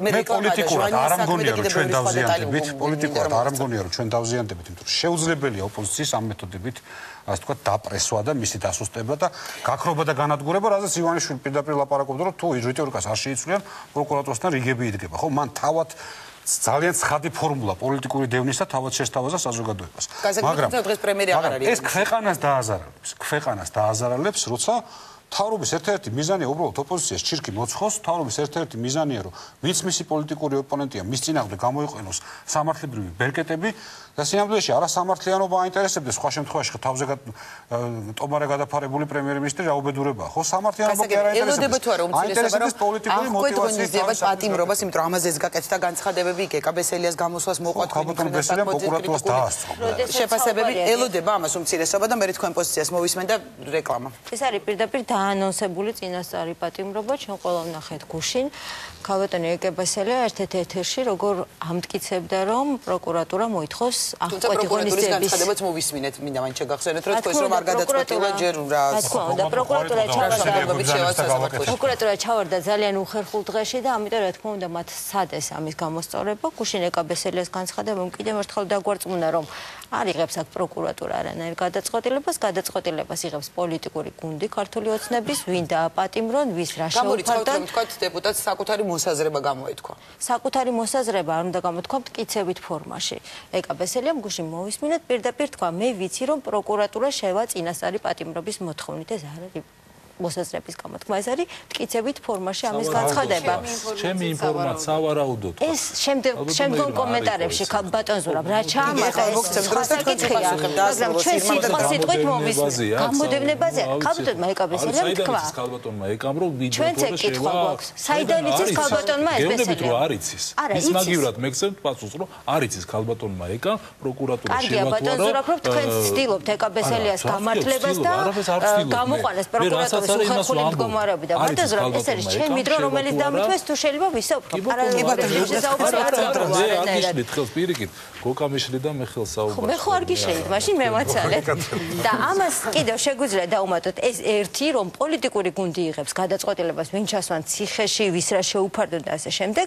მე პოლიტიკურად არ ამგონია რომ ჩვენ დავზიანდებით, პოლიტიკურად არ ამგონია რომ ჩვენ დავზიანდებით, იმიტომ რომ შეუძლებელია ოპოზიციის ამ მეთოდებით, ასე ვთქვათ, დაპრესვა და მისი დასუსტება და გაქრობა და განადგურება, რაზეც ივანიშვილი პირდაპირ ლაპარაკობდა, რომ თუ რიტორიკას არ შეიცვლიან, პროკურატურასთან რიგები იდგება, ხო? მან თავად ძალიან ცხადი ფორმულა პოლიტიკური დევნისა თავად შესთავაზა საზოგადოებას. მაგრამ დღეს პრემიერი აღარ არის. ეს ქვეყანას დააზარალებს, ქვეყანას დააზარალებს, როცა თავრობის ერთ-ერთი მიზანია უბრალოდ ოპოზიციას ჩირკი მოცხოს, თავრობის ერთ-ერთი მიზანია რომ ვინც მისი პოლიტიკური ოპონენტია, მის წინააღმდეგ გამოიყენოს სამართლებრივი ბერკეტები და სინამდვილეში არა სამართლიანობა აინტერესებდეს სხვა შემთხვევაში ხო თავზე ტომარე გადაფარებული პრემიერ-მინისტრი რაუბედურებაა, ხო სამართლიანობა კი არ აინტერესებს. ელოდება თუ არა უმცირესობა პოლიტიკური მოტივაციით პატიმრობას, იმიტომ რომ ამაზე გაკეთდა განცხადებები კეკაბესელიას გამოსვლას მოყვა თქვენი პროკურატურას დაასწრო. შეფასებები ელოდება ამას უმცირესობა და მე თქვენ პოზიციას მოვისმენ და რეკლამა. ეს არის პირდაპირ დაანონსებული წინასწარი პატიმრობა, ჩვენ ყველა ვნახეთ გუშინ. ქალბატონი ეკებასელია ერთ-ერთ ეთერში როგორ ამტკიცებდა, რომ პროკურატურა მოითხოვს აღკვეთი ღონისძიების განცხადებაც მოვისმინეთ, მინდა მან შეგახსენეთ, რომ თქვენ რომ არ გადაწყვეტილა ჯერ რა. რა თქმა უნდა, პროკურატურა ჩავარდა. პროკურატურა ჩავარდა ძალიან უხერხულ დღეში და ამიტომ რა თქმა უნდა მათ სადეს ამის გამოსწორება. გუშინ ეკაბესელიას განცხადებამ კიდევ ერთხელ დაგვარწმუნა, რომ არ იღებს აქ პროკურატურა არანაირ გადაწყვეტილებას, გადაწყვეტილებას იღებს პოლიტიკური გუნდი ქართული ოცნების, ვინ დააპატიმრონ, ვის რა შეუფარდა. გამოიწვევთ, თქვათ, დეპუტატს საკუთარი მოსაზრება გამოეთქვა. საკუთარი მოსაზრება არ უნდა გამოთქვა მტკიცებით ფორმაში. ეკაბესელიამ გუშინ მოვისმინეთ, პირდაპირ თქვა, მე ვიცი, რომ პროკურატურა შევა წინასწარი პატიმრობის მოთხოვნით, ეს არ არის მოსაზრების გამოთქმა. ეს არის მტკიცებით ფორმაში ამის განცხადება. ჩემი ინფორმაცია სავარაუდოდ. ეს შემდეგ შემდგომ კომენტარებში ბატონ ზურაბ რა ჩაამატა ეს საკითხია, მაგრამ ჩვენ სიტყვა სიტყვით მომის გამოდევნებაზე ქალბატონმა ეკაბესელიამ თქვა. ქალბატონმა ეკამ რომ ჩვენც ეკითხვა გვაქვს. საიდან იცის ქალბატონმა ეს ბესელია? გეუბნებით რომ არ იცის. ის მაგივრად მეგზებთ პასუხს რომ არ იცის ქალბატონმა ეკამ პროკურატურა შევატყარა. კარგია ბატონ ზურაბ რომ თქვენ ცდილობთ ეკაბესელიას გამართლებას და გამოყვანას პროკურატურის უხერხული მდგომარეობა და ბატონ ზურაბ ეს არის ჩემი დრო რომელიც დამითვეს თუ შეიძლება ვისაუბროთ. პარალელურად შესაუბროთ. აგიშლით ხელს პირიქით გოკამიშლი და მე ხელს საუბრობ. მე ხო არ გიშლით, მაშინ მევაცალეთ. და ამას კიდევ შეგვიძლია დაუმატოთ ეს ერთი რომ პოლიტიკური გუნდი იღებს გადაწყვეტილებას ვინ ჩასვან ციხეში, ვის რა შეუფარდონ და ასე შემდეგ,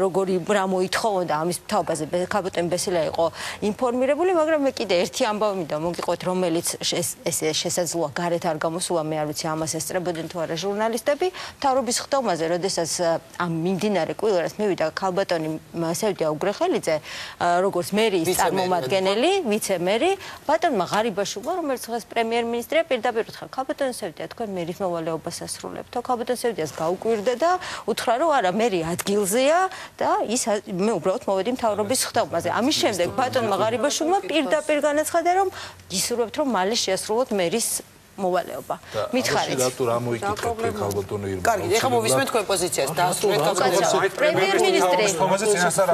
როგორი რა მოითხოვონ და ამის თავაზე ქალბატონ ბესელია იყო ინფორმირებული, მაგრამ მე კიდე ერთი ამბავი მინდა მოგიყვეთ, რომელიც ეს შესაძლოა გარეთ არ გამოსულა, მე არ ვიცი ამას ესწრებოდნენ თუ არა ჟურნალისტები, მთავრობის ხდომაზე, როდესაც ამ მიმდინარე კვილერას მივიდა ქალბატონი სევდია უგრეხელიძე, როგორც მერიის წარმომადგენელი, ვიცე-მერი, ბატონმა ღარიბაშვილმა, რომელიც დღეს პრემიერ-მინისტრია, პირდაპირ უთხრა ქალბატონ სევდია, თქვენ მერის მოვალეობას ასრულებთ. ქალბატონ სევდიას გაუკვირდა და უთხრა, რომ არა, მერი ადგილზეა და ის მე უბრალოდ მოვედი მთავრობის ხდომაზე. ამის შემდეგ ბატონმა ღარიბაშვილმა პირდაპირ განაცხადა, რომ ისურვებთ, რომ მალე შეასრულოთ მერის მოვალეობა. მითხარით. რატო რა მოიკითხეთ ქალბატონო ირმა? კარგი, ეხლა მოვისმენთ თქვენ პოზიციას. დაასრულეთ კაცო. პრემიერ-მინისტრი. წინასწარ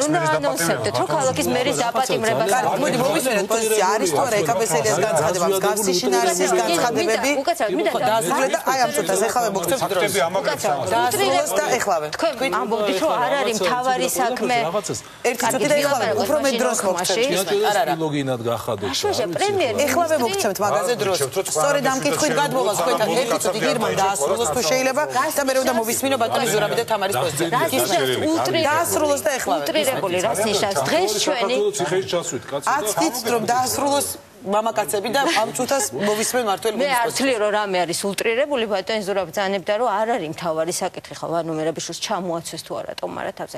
უნდა ანონსებდეთ, რომ ქალაქის მერის დაპატიმრებას. კარგი, მოდი მოვისმენთ პოზიცია. არის თუ არა ეკაბესელიას განცხადება, მსგავსი შინაარსის განცხადებები? უკაცრავად, მინდა დაასრულეთ და აი ამ წუთას ეხლა მოგწევთ დროს. დაასრულეთ და ეხლავე. თქვენ ამბობთ, რომ არ არის მთავარი საქმე. ერთი წუთი და ეხლავე, უფრო მე დროს მოგწევთ. არა, არა. ლოგინად გახადოთ. აშუაშა პრემიერი. ეხლავე მოგწევთ მაგაზე სწორედ ამ კითხვით გადმოვალ თქვენთან ერთი წუთი გირმა დაასრულოს თუ შეიძლება და მე უნდა მოვისმინო ბატონი ზურაბი და თამარის პოზიცია. დაასრულოს და ეხლა ულტრირებული რას ნიშნავს დღეს ჩვენი ციხეში ჩასვით კაცო. აცდით რომ დაასრულოს მამაკაცები და ამ წუთას მოვისმენ მართალი მე არ ვთვლი რომ რამე არის ულტრირებული ბატონი ზურაბ ბრძანებდა რომ არ არის მთავარი საკითხი ხო ვანო მერაბიშვილს ჩამოაცვეს თუ არა ტომარა თავზე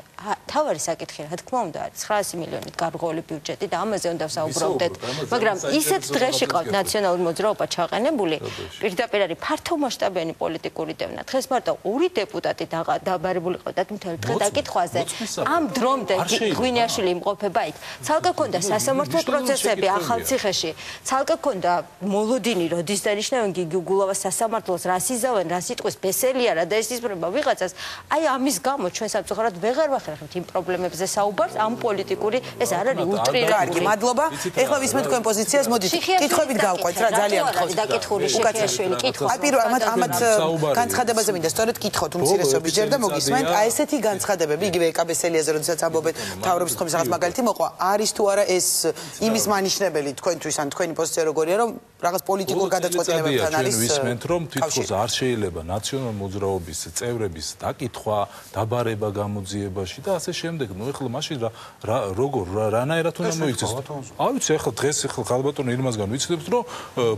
თავარი საკითხი რა თქმა უნდა არის ცხრაასი მილიონით გარღვეული ბიუჯეტი და ამაზე უნდა ვსაუბრობდეთ მაგრამ ისეთ დღეში ყავთ ნაციონალური მოძრაობა ჩაყენებული პირდაპირ არის ფართომასშტაბიანი პოლიტიკური დევნა დღეს მარტო ორი დეპუტატი დაბარებული ყავდათ მთელ დღე დაკითხვაზე ამ დრომდე ღვინიაშვილი იმყოფება იქ ცალკე ქონდა სასამართლო პროცესები ახალციხეში ცალკე ქონდა მოლოდინი როდის დანიშნავენ გიგი უგულავას სასამართლოს რას იზავენ რა სიტყვის ბესელია რა და ეს ისბრება ვიღაცას აი ამის გამო ჩვენ სამწუხაროდ ვეღარ ვახერხებთ იმ პრობლემებზე საუბარს ამ პოლიტიკური ეს არ არის ულტრირებული კარგი მადლობა ეხლა ვისმენთ თქვენ პოზიციას მოდით კითხვებით გავყვეთ რა ძალიან გთხოვთ დაკითხული შექეშვილი კითხვა აი პირველ ამათ ამათ განცხადებაზე მინდა სწორედ კითხოთ უმცირესობის ჯერ და მოგისმენთ აი ესეთი განცხადებები იგივე ეკაბესელიაზე როდესაც ამბობენ თავრობის ხმის რაღაც მაგალითი მოყვა არის თუ არა ეს იმის მანიშნებელი თქვენთვის ან თქვენი პოზიცია როგორია რომ რაღაც პოლიტიკურ გადაწყვეტილებებთან არის ვისმენთ რომ თვითონ არ შეიძლება ნაციონალურ მოძრაობის წევრების დაკითხვა დაბარება გამოძიებაში და ასე შემდეგ ნუ ეხლა მაშინ რა როგორ რანაირად უნდა მოიქცეს არ ვიცი ეხლა დღეს ეხლა ქალბატონი ირმასგან ვიცნობთ რომ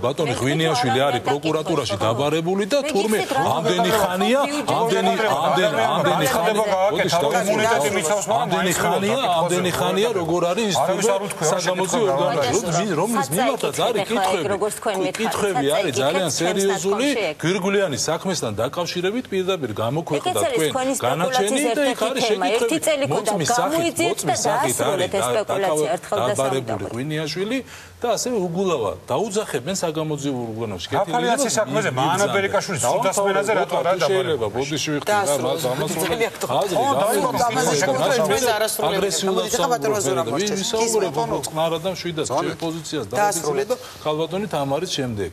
ბატონი ღვინიაშვილი არის პროკურატურაში დაბარებული და თურმე ამდენი ხანია ამდენი ამდენი ამდენი ამდენი ხანია ამდენი ხანია როგორ არის ის საგამოძიო ორგანო რომლის მიმართაც არის კითხვები კითხვები არის ძალიან სერიოზული გვირგვლიანი საქმესთან დაკავშირებით პირდაპირ გამოქვეყნდა თქვენ განაჩენი და იქ არის შეკითხვები მოწმის სახით მოწმის სახით არის დაბარებული ღვინიაშვილი და ასე უგულავა დაუძახებენ საგამოძიო ორგანოში გაფალიაცის საქმეზე მანა ბერიკაშვილის სუდასმენაზე რატო არ შეიძლება ბოდიში ვიხდი რა მას ამას აგრესიულად საუბრობენ ვისაუბრებთ წყნარად და მშვიდად ჩემ პოზიციას დაასრულეთ და ქალბატონი თამარის შემდეგ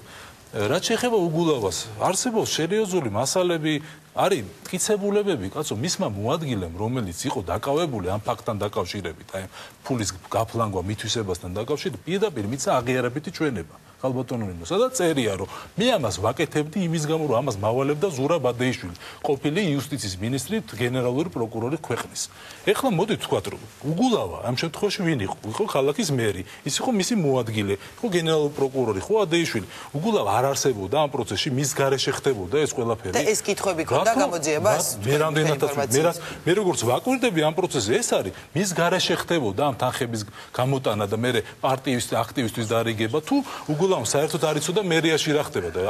რაც შეეხება უგულავას არსებობს სერიოზული მასალები არის მტკიცებულებები კაცო მისმა მოადგილემ რომელიც იყო დაკავებული ამ ფაქტთან დაკავშირებით აი ფულის გაფლანგვა მითვისებასთან დაკავშირებით პირდაპირ მიცა აღიარებითი ჩვენება ქალბატონო სადაც წერია რომ მე ამას ვაკეთებდი იმის გამო რომ ამას მავალებდა ზურაბ ადეიშვილი ყოფილი იუსტიციის მინისტრი გენერალური პროკურორი ქვეყნის ეხლა მოდით ვთქვათ რომ უგულავა ამ შემთხვევაში ვინ იყო იყო ქალაქის მერი ის იყო მისი მოადგილე იყო გენერალური პროკურორი ხო ადეიშვილი უგულავა არ არსებობდა ამ პროცესში მის გარეშე ხდებოდა ეს ყველაფერი და ეს კითხვები ქონდა გამოძიებას მე რამდენადაც მე მე როგორც ვაკვირდები ამ პროცესზე ეს არის მის გარეშე ხდებოდა ამ თანხების გამოტანა და მე პარტიის აქტივისტვის დარიგება თუ უგულავა უყურებელმა საერთოდ არ იცოდა მერიაში რა ხდება და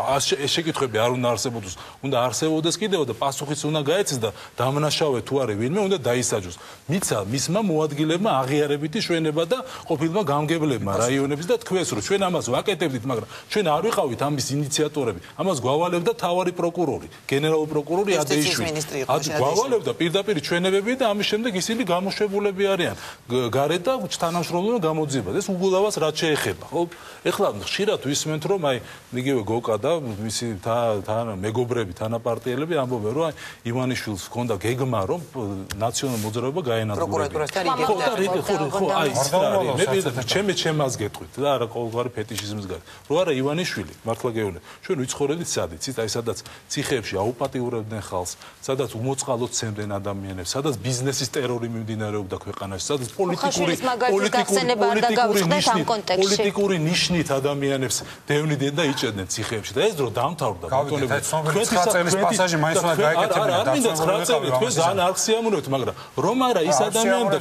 ეს შეკითხვები არ უნდა არსებობდეს, უნდა არსებობდეს კიდევ და პასუხიც უნდა გაეცეს და დამნაშავე თუ არის ვინმე უნდა დაისაჯოს. მიცა მისმა მოადგილებმა აღიარებითი ჩვენება და ყოფილმა გამგებლებმა რაიონების და თქვენს რომ ჩვენ ამას ვაკეთებდით, მაგრამ ჩვენ არ ვიყავით ამის ინიციატორები. ამას გვავალებდა თავარი პროკურორი, გენერალური პროკურორი ადეიშვილი. გვავალებდა პირდაპირ ჩვენებები და ამის შემდეგ ისინი გამოშვებულები არიან გარეთ და თანამშრომლობა გამოძიება. ეს უგულავას რაც შეეხება. ხო? ეხლა ხშირად ვისმენთ რომ აი იგივე გოკა და მისი თან მეგობრები, თანაპარტიელები ამბობენ რომ აი ივანიშვილს ჰქონდა გეგმა რომ ნაციონალურ მოძრაობა გაენადგურებინა. პროკურატურასთან იგივე ხო აი ის რა არის მე პირდაპირ ჩემი ჩემას გეტყვით და არა ყოველგვარი ფეტიშიზმის გარეთ. რო არა ივანიშვილი მართლა გეუბნები. ჩვენ ვიცხოვრებდით სადიც, აი სადაც ციხეებში აუპატიურებდნენ ხალხს, სადაც უმოწყალოდ ცემდნენ ადამიანებს, სადაც ბიზნესის ტერორი მიმდინარეობდა ქვეყანაში, სადაც პოლიტიკური პოლიტიკური ნიშნით ადამიანებს დევნიდნენ და იჭერდნენ ციხეებში და ეს დრო დამთავრდა. თქვენ ცხრა პასაჟი მაინც უნდა გაეკეთებინა. არ მინდა ცხრა წელი თქვენ ძალიან არ ხსიამოვნებთ, მაგრამ რომ არა ის ადამიანები და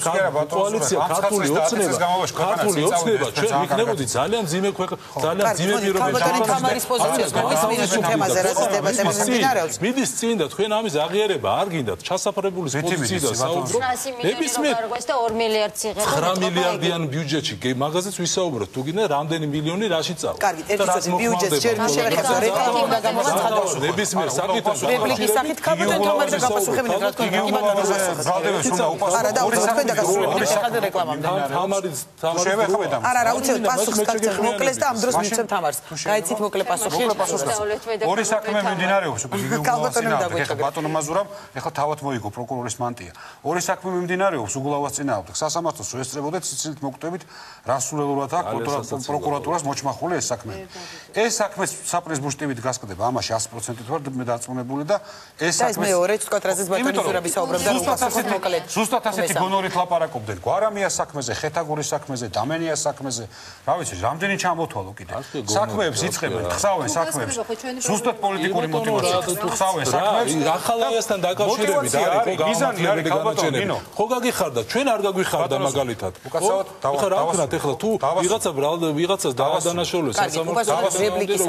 კოალიცია ქართული ოცნება, ქართული ოცნება ჩვენ ვიქნებოდით ძალიან ძიმე ქვეყანა, ძალიან ძიმე პირობებში. თამარის პოზიციას მოვისმინოთ თემაზე რა დებატები მიმდინარეობს. მიდის წინ და თქვენ ამის აღიარება არ გინდათ ჩასაფრებულის პოზიციიდან საუბრობ. ნებისმიერ და ორ მილიარდ ციხე ცხრა მილიარდიან ბიუჯეტში მაგაზეც ვისაუბროთ. თუ გინდა რამდენი მილიონი რაში წავა. კარგი, ერთი წუთი ბიუჯეტს ჯერ შევეხებთ რეკლამა უნდა გამოცხადოს. ნებისმიერ საკითხს რეპლიკის სახით ქაბატონ თამარი და გაფასუხებინეთ რა თქმა უნდა. კი ბატონო ბრალდებს უნდა უპასუხოთ. არა და თქვენ დაგასრულებთ ხალხი რეკლამამდე. თამარი თამარი შევეხებთ. არა არა უცებ პასუხს გაგცემ მოკლეს და ამ დროს მივცემ თამარს. გაიცით მოკლე პასუხი. ორი საქმე მიმდინარეობს უკვე იგივე ბატონო მაზურამ ეხლა თავად მოიგო პროკურორის მანტია. ორი საქმე მიმდინარეობს უგულავას წინააღმდეგ. სასამართლოს შეესწრებოდეთ სიცილით მოკვდებით რასულელურად აქვს პროკურატურას მოჩმახული ეს საქმე. ეს საქმე საპრეზიდენტო ტივით გასკდება ამაში sto procent-ით ვარ მე დარწმუნებული და ეს საქმე ეს მეორე თქვათ რაზეც ბატონი ზურაბი საუბრობდა რომ პასუხი მოკლედ. ზუსტად ასეთი გონორით ლაპარაკობდნენ. გვარამიას საქმეზე, ხეთაგურის საქმეზე, დამენიას საქმეზე. რა ვიცი, რამდენი ჩამოთვალო კიდე. საქმეებს იწყებენ, ხსავენ საქმეებს. ზუსტად პოლიტიკური მოტივაციით ხსავენ საქმეებს. ახალაიასთან დაკავშირებით არის ხო გამიზანი განაჩენები. ხო გაგიხარდა, ჩვენ არ გაგვიხარდა მაგალითად. უკაცრავად ხო რა ვქნათ ეხლა თუ ვიღაცა ვიღაცას დაადანაშაულოს სასამართლოს რეპლიკის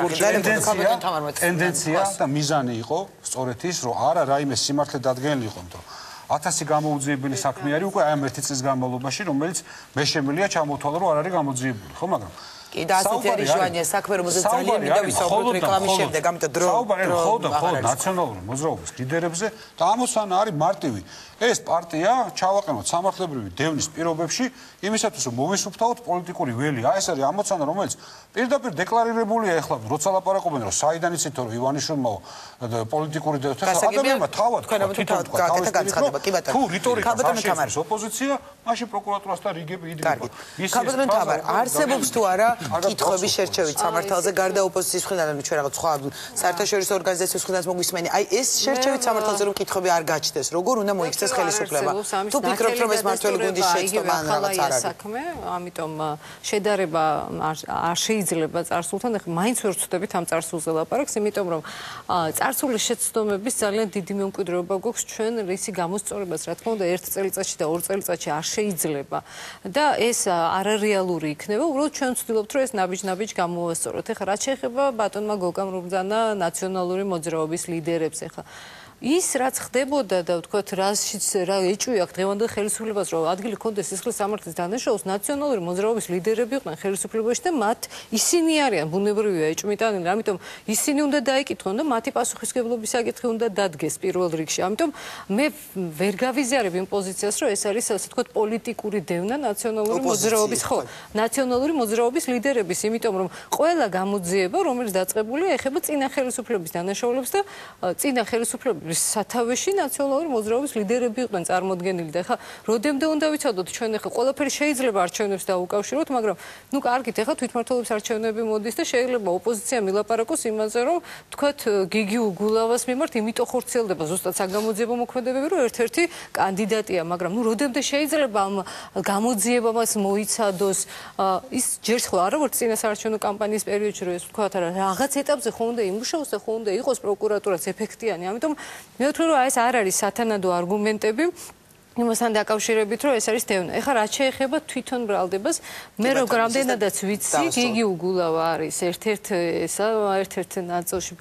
სახით ტენდენცია და მიზანი იყო სწორედ ის რომ არა რაიმე სიმართლე დადგენილი იყო რომ ათასი გამოუძიებელი საქმე არის უკვე აი ამ ერთი წლის განმავლობაში რომელიც მე შემიძლია ჩამოთვალო რომ არ არის გამოძიებული ხო მაგრამ კი და ასეთი არის ჟვანია საქმე რომელზეც ძალიან მინდა ვისაუბროთ რეკლამის შემდეგ ამიტომ დრო საუბარი ხო და ხო ნაციონალური მოძრაობის ლიდერებზე და ამოსანა არის მარტივი ეს პარტია ჩავაყენოთ სამართლებრივი დევნის პირობებში იმისათვის რომ მოვისუფთავოთ პოლიტიკური ველი აი ეს არის ამოცანა რომელიც პირდაპირ დეკლარირებულია ეხლა როცა ლაპარაკობენ რომ საიდან იცით რომ ივანიშვილმა პოლიტიკური დევნის ადამიანმა თავად თქვენ გაკეთა განცხადება კი ბატონო თუ რიტორიკას არ შეიცავს ოპოზიცია მაშინ პროკურატურასთან რიგები იდგება ის ბატონო თამარ არსებობს თუ არა კითხვები შერჩევით სამართალზე გარდა ოპოზიციის მხრიდან ჩვენ რაღაც სხვა საერთაშორისო ორგანიზაციის მხრიდან მოგვისმენი აი ეს შერჩევით სამართალზე რომ კითხვები არ გაჩნდეს როგორ უნდა მოიქცეს ხელისუფლება თუ ფიქრობთ რომ ეს მართველი გუნდის შეცდომა ან რაღაც არ არის საქმე ამიტომ შედარება არ შეიძლება წარსულთან ეხლა მაინც ვერ ვწდებით ამ წარსულზე ლაპარაკს იმიტომ რომ წარსულის შეცდომების ძალიან დიდი მემკვიდრეობა გვაქვს ჩვენ რისი გამოსწორებას რა თქმა უნდა ერთ წელიწადში და ორ წელიწადში არ შეიძლება და ეს არარეალური იქნება უბრალოდ ჩვენ ვცდილობთ რომ ეს ნაბიჯ-ნაბიჯ გამოვასწოროთ ეხლა რაც შეეხება ბატონმა გოგამ რუბძანა ნაციონალური მოძრაობის ლიდერებს ეხლა ის რაც ხდებოდა და ვთქვათ რაშიც რა ეჭვია დღევანდელ ხელისუფლებას რომ ადგილი ქონდეს სისხლის სამართლის დანაშაულს ნაციონალური მოძრაობის ლიდერები იყვნენ ხელისუფლებაში და მათ ისინი არიან ბუნებრივია ეჭვმიტანილი ამიტომ ისინი უნდა დაიკითხონ და მათი პასუხისმგებლობის საკითხი უნდა დადგეს პირველ რიგში ამიტომ მე ვერ გავიზიარებ იმ პოზიციას რომ ეს არის ასე ვთქვათ პოლიტიკური დევნა ნაციონალური მოძრაობის ხო ნაციონალური მოძრაობის ლიდერების იმიტომ რომ ყველა გამოძიება რომელიც დაწყებულია ეხება წინა ხელისუფლების დანაშაულებს და წინა ხელისუფლების სათავეში ნაციონალური მოძრაობის ლიდერები იყვნენ წარმოდგენილი და ეხლა როდემდე უნდა ვიცოდოთ ჩვენ ეხლა ყველაფერი შეიძლება არჩევნებს დაუკავშიროთ მაგრამ ნუ კარგით ეხლა თვითმმართველობის არჩევნები მოდის და შეიძლება ოპოზიცია მილაპარაკოს იმაზე რომ თქვათ გიგი უგულავას მიმართ იმიტომ ხორციელდება ზუსტად საგამოძიებო მოქმედებები რომ ერთ-ერთი კანდიდატია მაგრამ ნუ როდემდე შეიძლება ამ გამოძიებამაც მოიცადოს ის ჯერს ხო არა ვარ წინა საარჩევნო კამპანიის პერიოდში რომ ეს ვთქვათ რა რაღაც ეტაპზე ხო უნდა იმუშაოს და ხო უნდა იყოს პროკურატურაც ეფექტიანი ამიტომ მე ვთქვი რომ ეს არ არის სათანადო არგუმენტები იმასთან დაკავშირებით, რომ ეს არის დევნა. ეხლა რაც შეეხება თვითონ ბრალდებას, მე როგორ რამდენადაც ვიცი, გიგი უგულავა არის ერთ-ერთ ესა, ერთ-ერთ ნაწილში,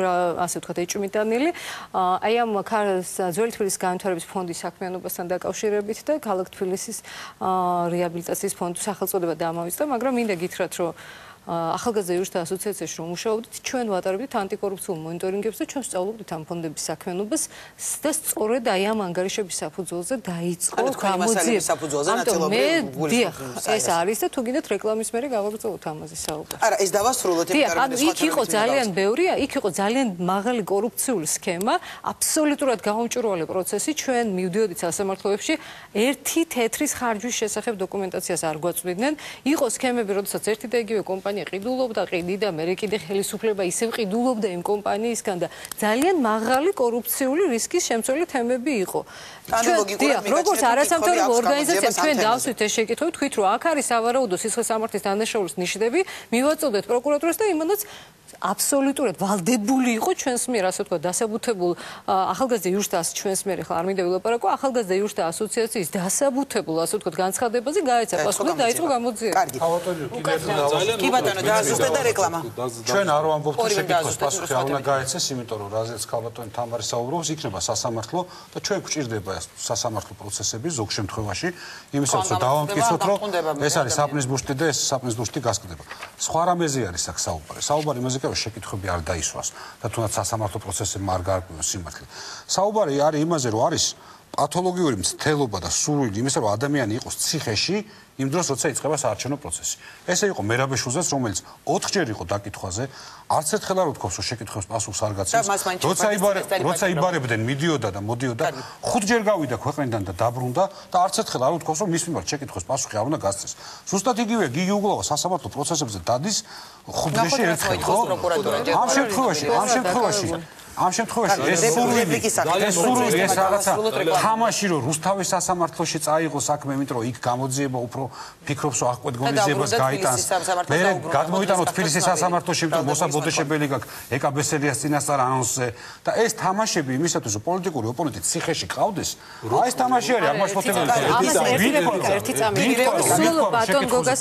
ასე ვთქვათ, ეჭვმიტანილი. აი ამ ძველი თბილისის განვითარების ფონდის საქმიანობასთან დაკავშირებით და ქალაქ თბილისის რეაბილიტაციის ფონდის სახელწოდება დამავიწყდა, მაგრამ მინდა გითხრათ, რომ ახალგაზრდა იურისტთა ასოციაციაში რომ მუშაობდით, ჩვენ ვატარებდით ანტიკორუფციულ მონიტორინგებს და ჩვენ სწავლობდით ამ ფონდების საქმიანობას და სწორედ აი ამ ანგარიშების საფუძველზე დაიწყო გამოძიება. ამიტომ მე დიახ, ეს არის და თუ გინდათ რეკლამის მერე გავაგრძელოთ ამაზე საუბარს. არა, ეს დავასრულოთ იმ კარგად. იქ იყო ძალიან ბევრია, იქ იყო ძალიან მაღალი კორუფციული სქემა, აბსოლუტურად გაუმჭრველი პროცესი. ჩვენ მივდიოდით სასამართლოებში ერთი თეთრის ხარჯვის შესახებ დოკუმენტაციას არ გვაწვდიდნენ. იყო სქემები, როდესაც ერთი და იგივე კომპანია ყიდულობდა, ყიდიდა, მე კიდე ხელისუფლება ისევ ყიდულობდა იმ კომპანიისგან და ძალიან მაღალი კორუფციული რისკის შემცველი თემები იყო. ჩვენ როგორც არასამთავრობო ორგანიზაცია ჩვენ დავსვით ეს შეკითხვები, თქვით რომ აქ არის სავარაუდო სისხლისამართლის დანაშაულის ნიშნები, მივაწოდეთ პროკურატურას და იმანაც აბსოლუტურად ვალდებული იყო ჩვენს მიერ, ასე ვთქვათ, დასაბუთებულ ახალგაზრდა იურისტთა ჩვენს მიერ ახლა არ მინდა ვილაპარაკო, ახალგაზრდა იურისტთა ასოციაციის დასაბუთებულ, ასე ვთქვათ, განცხადებაზე გაეცა პასუხი და დაიწყო გამოძიება. კარგი. კი ბატონო, დაასუსტეთ და რეკლამა. ჩვენ არ ვამბობთ შეკითხვის პასუხი არ უნდა გაეცეს, იმიტომ რომ რაზეც ქალბატონი თამარი საუბრობს, იქნება სასამართლო და ჩვენ გვჭირდება სასამართლო პროცესები ზოგ შემთხვევაში, იმისათვის რომ დავამტკიცოთ, რომ ეს არის საპნის ბუშტი და ეს საპნის ბუშტი გასკდება. სხვა რამეზე არის აქ საუბარი. საუბარი იმაზე რომ შეკითხვები არ დაისვას და თუნდაც სასამართლო პროცესებმა არ გაარკვევას სიმართლე. საუბარი არის იმაზე, რომ არის პათოლოგიური მცდელობა და სურვილი იმისა, რომ ადამიანი იყოს ციხეში იმ დროს, როცა იწყება საარჩევნო პროცესი. ესე იყო მერაბეშულზეც, რომელიც ოთხჯერ იყო დაკითხვაზე, არც ერთხელ არ უთქვამს, რომ შეკითხვის პასუხს არ გაცემს. როცა როცა იბარებდნენ, მიდიოდა და მოდიოდა, ხუთჯერ გავიდა ქვეყნიდან და დაბრუნდა და არც ერთხელ არ უთქვამს, რომ მის მიმართ შეკითხვის პასუხი არ უნდა გასცეს. ზუსტად იგივე გიგი უგულავა სასამართლო პროცესებზე დადის ხუთჯერში ერთხელ, ხო? ამ შემთხვევაში, ამ შემთხვევაში ამ შემთხვევაში ეს სურვილი ეს სურვილი ეს რაღაცა თამაში რომ რუსთავის სასამართლოში წაიღო საქმე, იმიტომ რომ იქ გამოძიება უფრო ფიქრობს რომ აღკვეთ გონიზებას გაიტანს. მე გადმოვიტანო თბილისის სასამართლოში, იმიტომ რომ მოსაბოდეშებელი გაქვს ეკაბესელიას წინასწარ ანონსზე და ეს თამაშები იმისათვის რომ პოლიტიკური ოპონენტი ციხეში ყავდეს, აი ეს თამაში არის აღმაშფოთებელი. ერთი წამი სულ ბატონ გოგას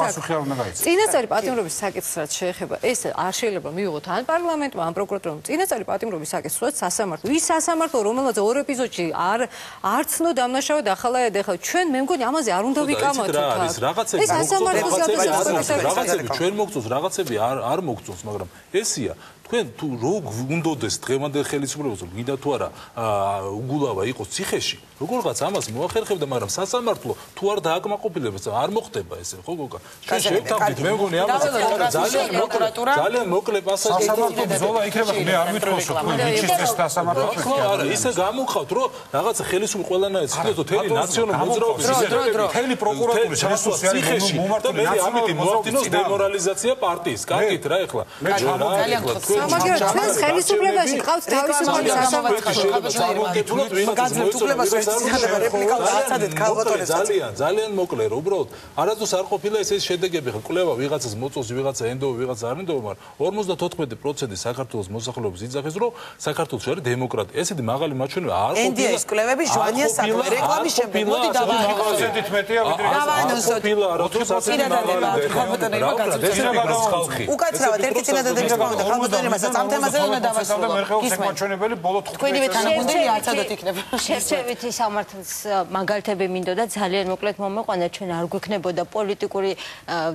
წინასწარი პატიმრობის საკითხს რაც შეეხება, ეს არ შეიძლება მივიღოთ ან პარლამენტმა, ან პროკურატურამ. წინასწარი პატიმრობის საკითხს სასამართლო. ის სასამართლო, რომელსაც ორ ეპიზოდში არ არ ცნო დამნაშავედ ახალაად ეხლა ჩვენ მე მგონი ამაზე არ უნდა ვიკამოთ. ეს რაღაცები რაღაცები ჩვენ მოგწონს, რაღაცები არ არ მოგწონს, მაგრამ ესია თქვენ თუ როგორ უნდოდეს დღევანდელ ხელისუფლებას, რომ გინდა თუ არა უგულავა იყოს ციხეში, როგორღაც ამას მოახერხებდა, მაგრამ სასამართლო თუ არ დააკმაყოფილებს, არ მოხდება ესე, ხო გოგა? ჩვენ შევთავაზეთ, მე მგონი ამას ძალიან მოკლე ძალიან მოკლე პასაჟი სასამართლო ბრძოლა იქნება, მე არ ვითხოვს, რომ თქვენ ვიჩისდეს სასამართლოში. ხო, არა, ისე გამოვხავთ, რომ რაღაცა ხელისუფლება ყველანაირად ცდილობს თელი ნაციონალური მოძრაობის თელი პროკურატურის რესურსი არის მომართული ნაციონალური მოახდინოს დემორალიზაცია პარტიის. კარგით რა ეხლა. მე ძალიან გხოცავ მაგრამ ჩვენს ხელისუფლებაში ყავს თავისუფალი სასამართლო. ძალიან ძალიან მოკლე რომ უბრალოდ არასდროს არ ყოფილა ეს ეს შედეგები ხა კვლევა ვიღაცას მოწონს ვიღაცა ენდო ვიღაცა არ ენდო მაგრამ ორმოცდათოთხმეტი პროცენტი საქართველოს მოსახლეობის იძახეს რომ საქართველოს არის დემოკრატია. ესეთი მაღალი მაჩვენებელია არ ყოფილა. ენდიეს კვლევები ჟვანია საქმე რეკლამის შემდეგ მოდი დავაყენოთ მეტია ვიდრე უკაცრავად ერთი წინადადების პოვნა ხალხოსნებასაც ამ თემაზე უნდა დავასრულოთ. მაჩვენებელი ბოლო თქვენივე თანაგუნდელი არცადოთ იქნება. შევჩევითი სამართლის მაგალითები მინდოდა ძალიან მოკლედ მომეყვანა, ჩვენ არ გვექნებოდა პოლიტიკური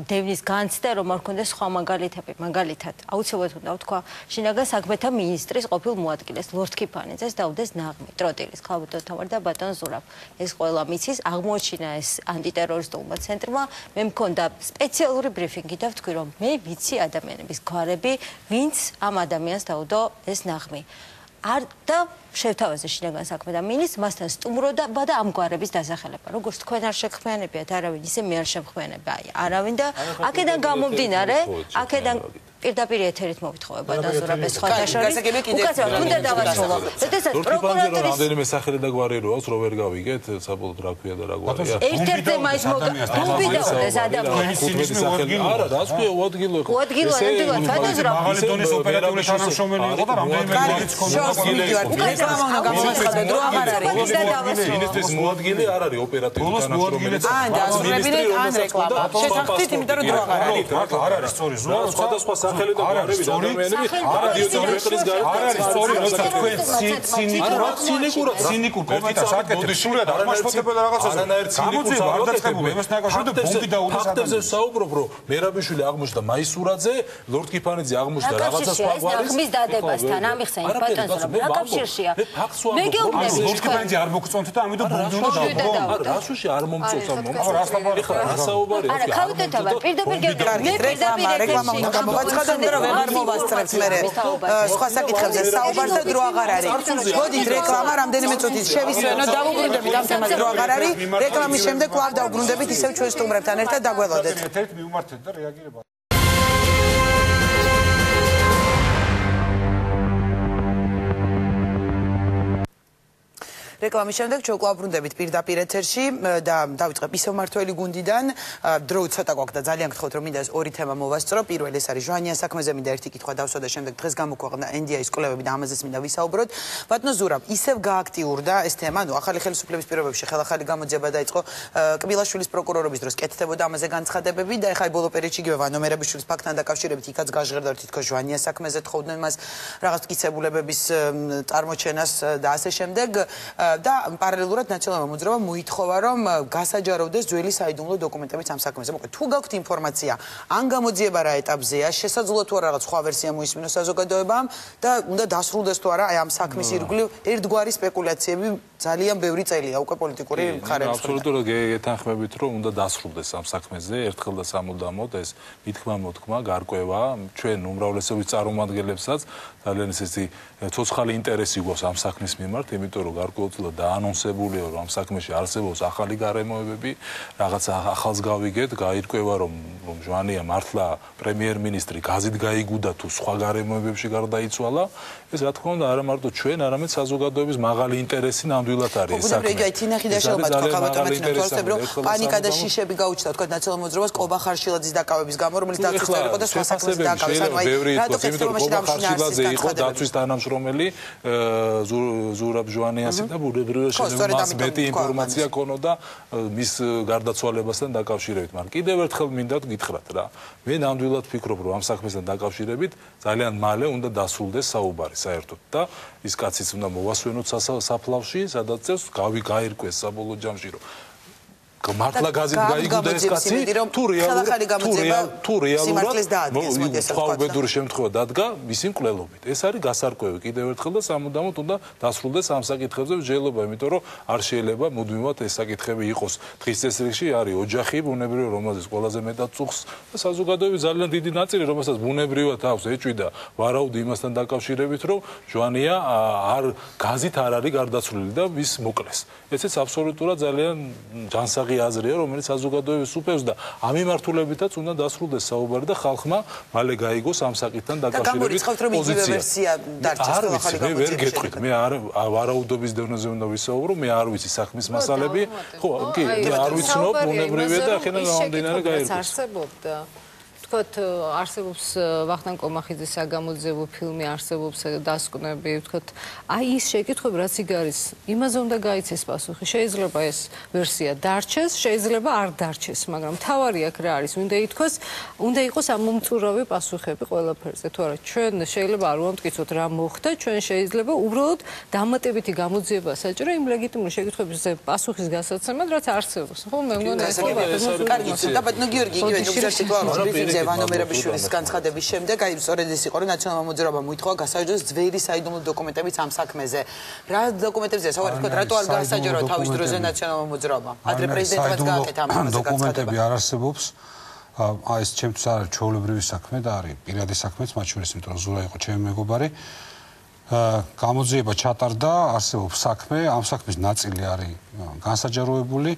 დევნის განცდა, რომ არ ქონდეს სხვა მაგალითები. მაგალითად, აუცილებლად უნდა ვთქვა, შინაგან საქმეთა მინისტრის ყოფილ მოადგილეს ლორდ ქიფანიძეს დაუდეს ნაღმი ტროტილის ქალბატონ თამარ და ბატონ ზურაბ. ეს ყველა მიცის, აღმოჩინა ეს ანტიტერორისტულმა ცენტრმა, მე მქონდა სპეციალური ბრიფინგი და ვთქვი, რომ მე ვიცი ადამიანების გვარები, ვინც ამ ადამიანს დაუდო ეს ნაღმი. არ და შევთავაზე შინაგან საქმეთა მინისტრს, მასთან სტუმრობა და ამ გვარების დასახელება. როგორც თქვენ არ შეგხმიანებიათ არავინ, ისე მე არ შემხმიანებ აი არავინ და აქედან გამომდინარე, აქედან პირდაპირ ეთერით მოვითხოვება დაზურაბეს სხვათა შორის. უკაცრავად უნდა დავასრულო. როდესაც პროკურატურის რამდენიმე სახელი და გვარი რო აქვს, რო ვერ გავიგეთ, საბოლოოდ რა ქვია და რა გვარია. ერთ-ერთი მაის მოვიდაოდეს ადამიანს. არა, რა ქვია, უადგილო ხო. უადგილო, ნამდვილად, გადაზრა. მაღალი დონის ოპერატიული თანამშრომელი იყო და რამდენიმე რიგიც ქონდა. რეკლამა უნდა გამოაცხადო, დრო აღარ არის. მინისტრის მოადგილე არ არის ოპერატიული თანამშრომელი. ან დაზრებინეთ ან რეკლამა. შეთანხმდით, იმიტომ რომ დრო აღარ არის. არ არის სწორი ზურა, სხვადასხვა სახელი და გვარები და ადამიანები რადიო ჯერნალისტის გარეთ არ არის სწორი, როცა თქვენ ცინიკურად ცინიკურად ცინიკურ კომენტარს აკეთებთ. სულად აღმაშფოთებელ რაღაცას. გამოძიება არ დაწყებული, იმას ნაკავშირდა ბომბი დაუდეს ადამიანს. ფაქტებზე საუბრობ, რომ მერაბიშვილი აღმოჩნდა მაისურაძე, ლორდ კიფანიძე აღმოჩნდა რაღაცა სხვა გვარის. ხმის დადებასთან ამიხსენე ბატონო, რა კავშირშია? მე გეუბნები, ლორდ კიფანიძე არ მოგწონთ და ამიტომ ბომბი უნდა დაუბრუნო. არა, რასუში არ მომწონს ამ მომწონს. რას საუბარია? არა, ქავიტეთა პირდაპირ გეუბნები, მე რეკლამა, რეკლამა უნდა გამოაცხადო, იმიტომ რომ ვეღარ მოვასწრებთ მე სხვა საკითხებზე საუბარს და დრო აღარ არის. მოდით რეკლამა რამდენიმე წუთით შევისვენოთ, დავუბრუნდებით ამ თემას, დრო აღარ არის. რეკლამის შემდეგ კვლავ დავუბრუნდებით ისევ ჩვენ სტუმრებთან ერთად დაგველოდეთ. ერთ-ერთ მიუმართეთ და რეაგირება რეკლამის შემდეგ ჩვენ კვლავ ბრუნდებით პირდაპირ ეთერში და დავიწყებ ისევ მართველი გუნდიდან. დრო ცოტა გვაქვს და ძალიან გთხოვთ რომ მინდა ორი თემა მოვასწრო. პირველი ეს არის ჟვანიან საქმეზე, მინდა ერთი კითხვა დავსვა და შემდეგ დღეს გამოქვეყნდა ენ დი აის კვლევები და ამაზეც მინდა ვისაუბროთ. ბატონო ზურაბ, ისევ გააქტიურდა ეს თემა, ნუ ახალი ხელისუფლების პირობებში ხელახალი გამოძიება დაიწყო კბილაშვილის პროკურორობის დროს კეთდებოდა ამაზე განცხადებები და ეხლა ბოლო პერიოდში იგივე ვანო მერაბიშვილის ფაქტთან დაკავშირებით იქაც გაჟღერდა რომ თითქოს ჟვანიან საქმეზე თხოვდნენ მას რაღაც მტკიცებულებების წარმოჩენას და ასე შემდეგ. და პარალელურად ნაციონალურმა მოძრაობამ მოითხოვა რომ გასაჯაროვდეს ძველი საიდუმლო დოკუმენტებიც ამ საქმეზე. მოკლედ, თუ გაქვთ ინფორმაცია, ან გამოძიება რა ეტაპზეა, შესაძლოა თუ არა რაღაც სხვა ვერსია მოისმინოს საზოგადოებამ და უნდა დასრულდეს თუ არა აი ამ საქმის ირგვლივ ერთგვარი სპეკულაციები ძალიან ბევრი წელია უკვე პოლიტიკური მხარეების. აბსოლუტურად გეთანხმებით რომ უნდა დასრულდეს ამ საქმეზე ერთხელ და სამუდამოდ ეს მithქმა მოთქმა გარკვევა ჩვენ უმრავლესობის წარმომადგენლებსაც ძალიან ისეთი ცოცხალი ინტერესი გვაქვს ამ საქმის მიმართ, იმიტომ რომ გარკვეულწილად დაანონსებულია რომ ამ საქმეში არსებობს ახალი გარემოებები, რაღაც ახალს გავიგეთ, გაირკვევა რომ რომ ჟვანია მართლა პრემიერ-მინისტრი გაზით გაიგუდა თუ სხვა გარემოებებში გარდაიცვალა, ეს რა თქმა უნდა არა მარტო ჩვენ, არამედ საზოგადოების მაღალი ინტერესი ნამდვილად არის ეს საქმე. აი თინახი და შეობა თქვა ხავატომეთნა თვალსები რომ პანიკა და შიშები გაუჩნდა თქვა ნაციონალურ მოძრაობას ყობა ხარშილაძის დაკავების გამო, რომელიც დაცვის იყო და სხვა საქმეში დაკავეს. ანუ აი რატო კეთილობაში დამშინარსის იყო დაცვის თანამშრომელი ზურაბ ჟვანიასი და ბუნებრივია შეიძლება მას მეტი ინფორმაცია ქონოდა მის გარდაცვალებასთან დაკავშირებით. მაგრამ კიდევ ერთხელ მინდა გითხრათ რა. მე ნამდვილად ფიქრობ რომ ამ საქმესთან დაკავშირებით ძალიან მალე უნდა დასრულდეს საუბარი საერთოდ და ის კაციც უნდა მოვასვენოთ საფლავში, სადაც წევს გავი გაირკვეს საბოლოო ჯამში რომ მართლა გაზით გაიგუდა ეს კაცი თუ რეალურად თუ რეალურად სხვა უბედური შემთხვევა დადგა მისი მკვლელობით. ეს არის გასარკვევი კიდევ ერთხელ და სამუდამოდ უნდა დასრულდეს ამ საკითხებზე მსჯელობა, იმიტომ რომ არ შეიძლება მუდმივად ეს საკითხები იყოს. დღის წესრიგში არის ოჯახი, ბუნებრივია რომელზეც ყველაზე მეტად წუხს და საზოგადოების ძალიან დიდი ნაწილი, რომელსაც ბუნებრივად აქვს ეჭვი და ვარაუდი იმასთან დაკავშირებით, რომ ჟვანია არ გაზით არ არის გარდაცვლილი და ის მოკლეს. ესეც აბსოლუტურად ძალიან ჯანსაღი აზრია, რომელიც საზოგადოებას უპევს და ამ მიმართულებითაც უნდა დასრულდეს საუბარი და ხალხმა მალე გაიგოს ამ საკითხთან დაკავშირებით პოზიცია. არ ვიცი, მე ვერ გეტყვით, მე არ ვარაუდობის დონეზე უნდა ვისაუბრო, მე არ ვიცი საქმის მასალები. ხო, კი, არ ვიცნობ, ბუნებრივია და ახლა გამომდინარე გაირკვევა. არსებობდა ვთქვათ, არსებობს ვახტანგ კომახიძის საგამოძიებო ფილმი, არსებობს დასკვნები, ვთქვათ, აი ის შეკითხვები რაც იქ არის, იმაზე უნდა გაიცეს პასუხი. შეიძლება ეს ვერსია დარჩეს, შეიძლება არ დარჩეს, მაგრამ თავარი აქ რა არის, უნდა ითქვას, უნდა იყოს ამომწურავი პასუხები ყველაფერზე. თუ არა, ჩვენ შეიძლება არ ვამტკიცოთ რა მოხდა, ჩვენ შეიძლება უბრალოდ დამატებითი გამოძიება საჭირო იმ ლეგიტიმური შეკითხვებზე პასუხის გასაცემად, რაც არსებობს. ხო, მე მგონი ეს არის. კარგი, და ბატონო გიორგი, იგივე ნუგზაში კლავ ვანო მერაბიშვილის განცხადების შემდეგ, აი სწორედ ეს იყო, რომ ნაციონალურმა მოძრაობამ მოითხოვა გასაჯაროს ძველი საიდუმლო დოკუმენტებიც ამ საქმეზე. რა დოკუმენტებზეა საუბარი, თქვა, რატო არ გასაჯარო თავის დროზე ნაციონალურმა მოძრაობამ? ადრე პრეზიდენტებიც გააკეთა ამაზე განცხადება. დოკუმენტები არ არსებობს. აი ეს ჩემთვის არის ჩვეულებრივი საქმე და არის პირადი საქმეც, მათ შორის, იმიტომ რომ ზურა იყო ჩემი მეგობარი. გამოძიება ჩატარდა, არსებობს საქმე, ამ საქმის ნაწილი არის განსაჯაროებული.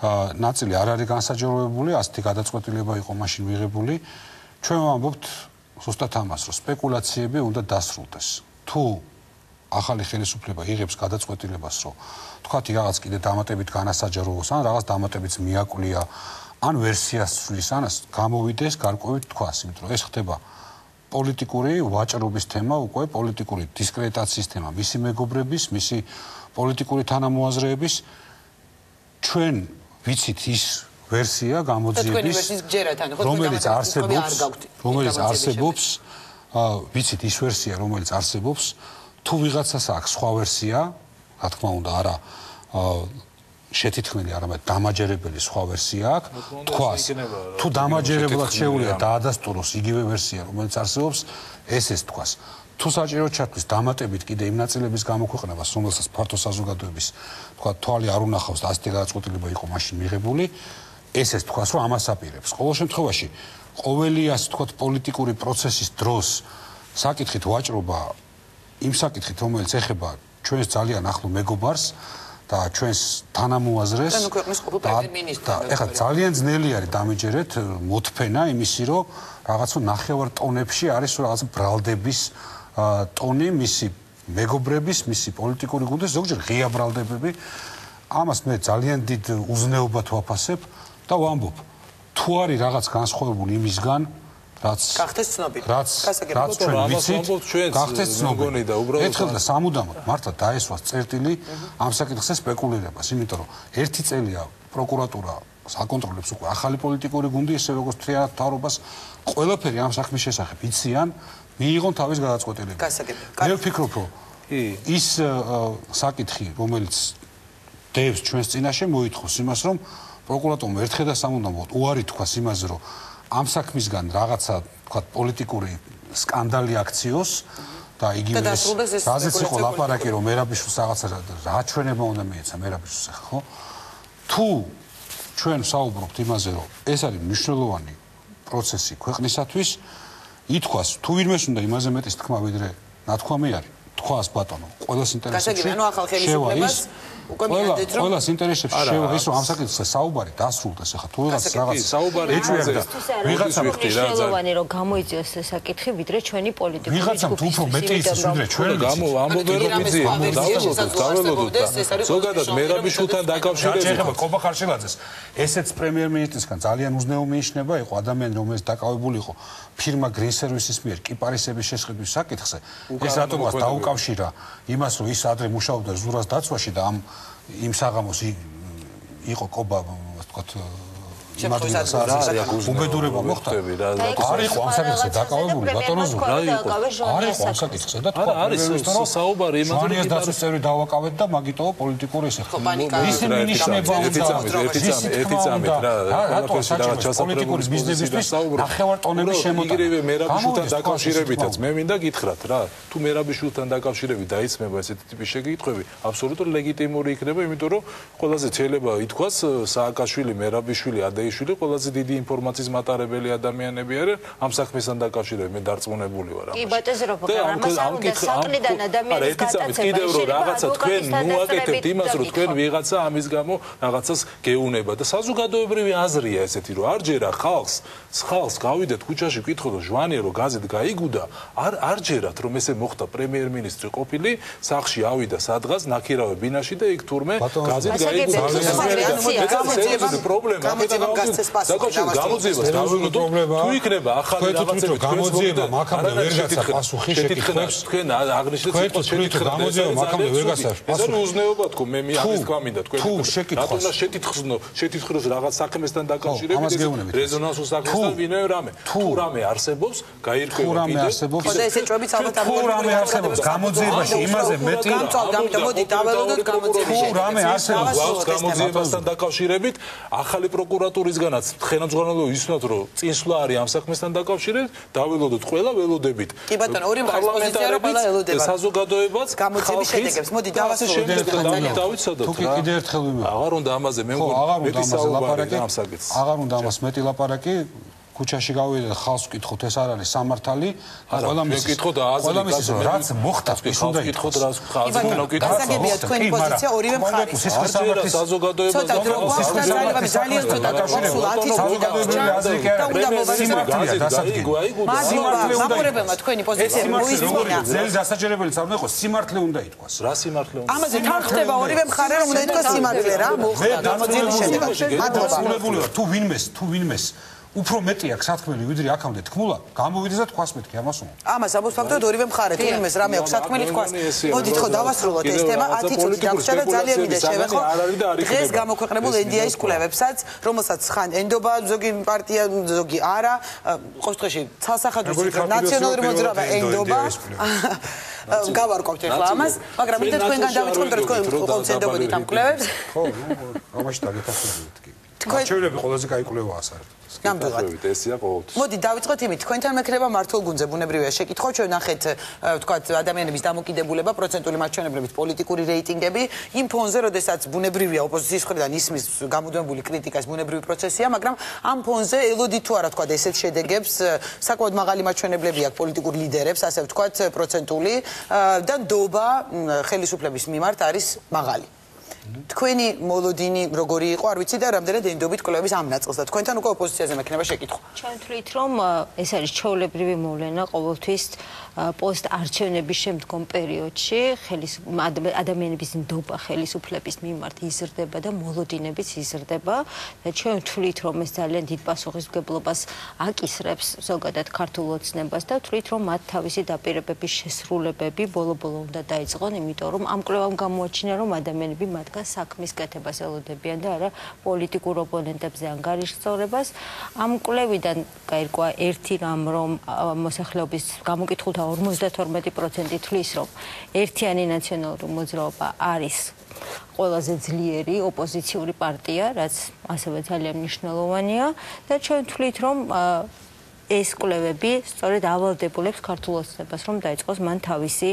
ნაწილი არ არის განსაჯაროებული, ასეთი გადაწყვეტილება იყო მაშინ მიღებული. ჩვენ ვამბობთ ზუსტად ამას, რომ სპეკულაციები უნდა დასრულდეს. თუ ახალი ხელისუფლება იღებს გადაწყვეტილებას, რომ თქვათ რაღაც კიდე დამატებით განასაჯაროოს, ან რაღაც დამატებით მიაკვлия, ან ვერსიას ცვლის, ან გამოვიდეს გარკვევით თქვას, იმიტომ რომ ეს ხდება პოლიტიკური ვაჭრობის თემა, უკვე პოლიტიკური დისკრედიტაციის თემა, მისი მეგობრების, მისი პოლიტიკური თანამოაზრეების ჩვენ ვიცით ის ვერსია გამოძიების, რომელიც არსებობს, რომელიც არსებობს, ვიცით ის ვერსია, რომელიც არსებობს, თუ ვიღაცას აქვს სხვა ვერსია, რა თქმა უნდა, არა შეთითქმელი, არამედ დამაჯერებელი სხვა ვერსია აქვს, თქვას, თუ დამაჯერებლად შეუძლია დაადასტუროს იგივე ვერსია, რომელიც არსებობს, ეს ეს თქვას. თუ საჭირო ჩათვლის დამატებით კიდე იმ ნაწილების გამოქვეყნებას, რომელსაც ფართო საზოგადოების, თქვა, თვალი არ უნახავს და ასეთი გადაწყვეტილება იყო მაშინ მიღებული, ეს ეს თქვას, რომ ამას აპირებს. ყოველ შემთხვევაში, ყოველი ასე თქვა პოლიტიკური პროცესის დროს საკითხით ვაჭრობა იმ საკითხით, რომელიც ეხება ჩვენს ძალიან ახლო მეგობარს და ჩვენს თანამოაზრეს და ეხლა ძალიან ძნელი არის დამიჯერეთ მოთფენა იმისი, რომ რაღაცა ნახევარ ტონებში არის რაღაც ბრალდების ტონი მისი მეგობრების, მისი პოლიტიკური გუნდის, ზოგჯერ ღია ბრალდებები. ამას მე ძალიან დიდ უზნეობად ვაფასებ და ვამბობ, თუ არის რაღაც განსხვავებული იმისგან, რაც გახდეს ცნობილი. რაც რაც ჩვენ ვიცით, გახდეს ცნობილი და უბრალოდ ერთხელ და სამუდამოდ მართლა დაესვას წერტილი ამ საკითხზე სპეკულირებას, იმიტომ რომ ერთი წელია პროკურატურა საკონტროლებს უკვე ახალი პოლიტიკური გუნდი, ესე როგორც თრიალ თავრობას, ყველაფერი ამ საქმის შესახებ იციან, მიიღონ თავის გადაწყვეტილება. მე ვფიქრობ, რომ ის საკითხი, რომელიც დევს ჩვენს წინაშე, მოითხოვს იმას, რომ პროკურატურამ ერთხელ და სამუდამოდ უარი თქვას იმაზე, რომ ამ საქმისგან რაღაცა, თქვათ, პოლიტიკური სკანდალი აქციოს და იგივე ეს რაზეც იყო ლაპარაკი, რომ მერაბიშვილს რაღაცა რაჩვენება უნდა მიეცა მერაბიშვილს, ხო? თუ ჩვენ საუბრობთ იმაზე, რომ ეს არის მნიშვნელოვანი პროცესი ქვეყნისათვის, ითქვას, თუ ვინმეს უნდა იმაზე მეტის თქმა, ვიდრე ნათქვამი არის, თქვას ბატონო, ყველას ინტერესებში შევა ის უკვე მიადეთ რომ ყველას ინტერესებში შევა ის რომ ამ საკითხზე საუბარი დასრულდეს ახლა თუ ვიღაც რაღაც საუბარი ეჭვია და ვიღაცა ვიხდი რა ძალიან რომ გამოიწვიოს ეს საკითხი ვიდრე ჩვენი პოლიტიკური ვიღაცამ თუ უფრო მეტი იცის ვიდრე ჩვენ გამო ამბობენ რომ იცი დაველოდოთ დაველოდოთ და ზოგადად მერაბიშვილთან დაკავშირებით კობა ხარშილაძეს ესეც პრემიერ-მინისტრისგან ძალიან უზნეო მიიჩნევა იყო ადამიანი რომელიც დაკავებული იყო ფირმა Green Services მიერ კიპარისების შესყიდვის საკითხზე ეს რატომღაც დაუკავშირა იმას რომ ის ადრე მუშაობდა ზურას დაცვაში და ამ იმ საღამოს იყო კობა ვთქვათ იმადვილას არის უბედურება მოხდა არ იყო ამ საკითხზე დაკავებული ბატონო ზურა არ იყო ამ საკითხზე და თქვა არის საუბარი იმაზე რომ დაცვის წევრი დავაკავეთ და მაგიტო პოლიტიკური ესეხება ისინი ნიშნება ერთი წამით რა ყველაფერში რაღაც პოლიტიკური ბიზნესისთვის ნახევარ ტონების შემოტანა იგივე მერაბიშვილთან დაკავშირებითაც მე მინდა გითხრათ რა თუ მერაბიშვილთან დაკავშირებით დაისმება ესეთი ტიპის შეკითხვები აბსოლუტურად ლეგიტიმური იქნება იმიტომ რომ ყველაზე შეიძლება ითქვას სააკაშვილი მერაბიშვილი შვილი ყველაზე დიდი ინფორმაციის მატარებელი ადამიანები არიან ამ საქმესთან დაკავშირებით მე დარწმუნებული ვარ ამაში. კი ბატონო პროგრამას არ უნდა საყლიდან ადამიანის გადაცემა კიდევ რომ რაღაცა თქვენ მოაკეთებთ იმას რომ თქვენ ვიღაცა ამის გამო რაღაცას გეუნება და საზოგადოებრივი აზრია ესეთი რომ არ ჯერა ხალხს ხალხს გავიდეთ ქუჩაში ვკითხოთ რომ ჟვანია რომ გაზეთ გაიგუდა არ არ ჯერათ რომ ესე მოხდა პრემიერ-მინისტრი ყოფილი სახში ავიდა სადღაც ნაქირავე ბინაში და იქ თურმე გაზეთ გაიგუდა ეს პრობლემა დაკავშირებით გამოძიებას დავულოდო თუ იქნება ახალი რაღაცები გამოძიება მაქამდე ვერ გაცა პასუხი შეკითხვებს თქვენ აღნიშნეთ სიტყვას შეკითხვა გამოძიება მაქამდე ვერ გაცა პასუხი ეს უზნეობა თქო მე მე ამის თქვა მინდა თქვენ თუ შეკითხვას რატომ შეთითხნო შეთითხოს რაღაც საქმესთან დაკავშირებით რეზონანსულ საქმესთან ვინმე რამე თუ რამე არსებობს გაირკვევა კიდე ხოდა ეს ეჭვებიც ალბათ თუ რამე არსებობს გამოძიებაში იმაზე მეტი გამწავდა ამიტომ მოდი დაველოდოთ გამოძიებაში თუ რამე არსებობს გამოძიებასთან დაკავშირებით ახალი პროკურატურისგანაც ხელმძღვანელობა ისნოთ რომ წინსვლა არის ამ საქმესთან დაკავშირებით დაველოდოთ ყველა ველოდებით კი ბატონო ორი მხარის პოზიცია რომ ყველა ველოდება საზოგადოებაც გამოძიების შედეგებს მოდი დავასრულოთ დავიცადოთ თუ კიდე ერთხელ ვიმეორე აღარ უნდა ამაზე მე მგონი მეტი საუბარი ამ საკითხს აღარ უნდა ამას მეტი ლაპარაკი ქუჩაში გავიდე და ხალხს ვკითხოთ ეს არ არის სამართალი ყველა მის ვკითხოთ და აზრი ყველა მის რაც მოხდა ის უნდა ვკითხოთ რაც ხალხს უნდა ვკითხოთ გასაგებია თქვენი პოზიცია ორივე მხარის სისხლის სამართლის საზოგადოებას ცოტა დრო გვაქვს და ძალიან ცოტა გასულ ათი წუთი და უნდა სიმართლეა დასადგენი მადლობა მაყურებელმა თქვენი პოზიცია მოისმინა ძელი დასაჯერებელიც არ უნდა იყოს სიმართლე უნდა ითქვას რა სიმართლე უნდა ამაზე თან ხდება ორივე მხარე რომ უნდა ითქვას სიმართლე რა მოხდა გამოძიების შედეგად მადლობა თუ ვინმეს თუ ვინმეს უფრო მეტი აქვს სათქმელი ვიდრე აქამდე თქმულა გამოვიდეს და თქვას მეთქი ამას უნდა ამას ამბობს ფაქტობრივად ორივე მხარე თუ იმეს რამე აქვს სათქმელი თქვას მოდით ხო დავასრულოთ ეს თემა ათი წუთი დაგვრჩა და ძალიან მინდა შევეხო დღეს გამოქვეყნებულ ენ დი ეის კვლევებსაც რომელსაც ხან ენდობა ზოგი პარტია ზოგი არა ყოველ შემთხვევაში ცალსახადურის ნაციონალური მოძრაობა ენდობა გავარკვევთ ახლა ამას მაგრამ მინდა თქვენგან დავიწყოთ რომ თქვენ ყოველთვის ენდობოდით ამ კვლევებს ხო ამაში დაგეთახმებით კი თქვენები ყველაზე კაი კვლევაა საერთოდ ნამდვილად ესია ყოველთვის მოდი დავიწყოთ იმით თქვენთან მექნება მართულ გუნდზე ბუნებრივია შეკითხვა ჩვენ ნახეთ ვთქვათ ადამიანების დამოკიდებულება პროცენტული მაჩვენებლებით პოლიტიკური რეიტინგები იმ ფონზე როდესაც ბუნებრივია ოპოზიციის მხრიდან ისმის გამუდმებული კრიტიკას ბუნებრივი პროცესია მაგრამ ამ ფონზე ელოდით თუ არა ვთქვათ ესეთ შედეგებს საკმაოდ მაღალი მაჩვენებლები აქვს პოლიტიკურ ლიდერებს ასე ვთქვათ პროცენტული და ნდობა ხელისუფლების მიმართ არის მაღალი თქვენი მოლოდინი როგორი იყო არ ვიცი და რამდენად ენდობით კვლევების ამ ნაწილს და თქვენთან უკვე ოპოზიციაზე მექნება შეკითხვა ჩვენ ვთვლით რომ ეს არის ჩვეულებრივი მოვლენა ყოველთვის პოსტ არჩევნების შემდგომ პერიოდში ადამიანების ნდობა ხელისუფლების მიმართ იზრდება და მოლოდინებიც იზრდება და ჩვენ ვთვლით რომ ეს ძალიან დიდ პასუხისმგებლობას აკისრებს ზოგადად ქართულ ოცნებას და ვთვლით რომ მათ თავისი დაპირებების შესრულებები ბოლო-ბოლო უნდა დაიწყონ იმიტომ რომ ამ კვლევამ გამოაჩინა რომ ადამიანები მათგან საქმის კეთებას ელოდებიან და არა პოლიტიკურ ოპონენტებზე ანგარიშსწორებას ამ კვლევიდან გაირკვა ერთი რამ რომ მოსახლეობის გამოკითხულთა ორმოცდათორმეტი პროცენტი თვლის რომ ერთიანი ნაციონალური მოძრაობა არის ყველაზე ძლიერი ოპოზიციური პარტია რაც ასევე ძალიან მნიშვნელოვანია და ჩვენ ვთვლით რომ ეს კვლევები სწორედ ავალდებულებს ქართულ ოცნებას რომ დაიწყოს მან თავისი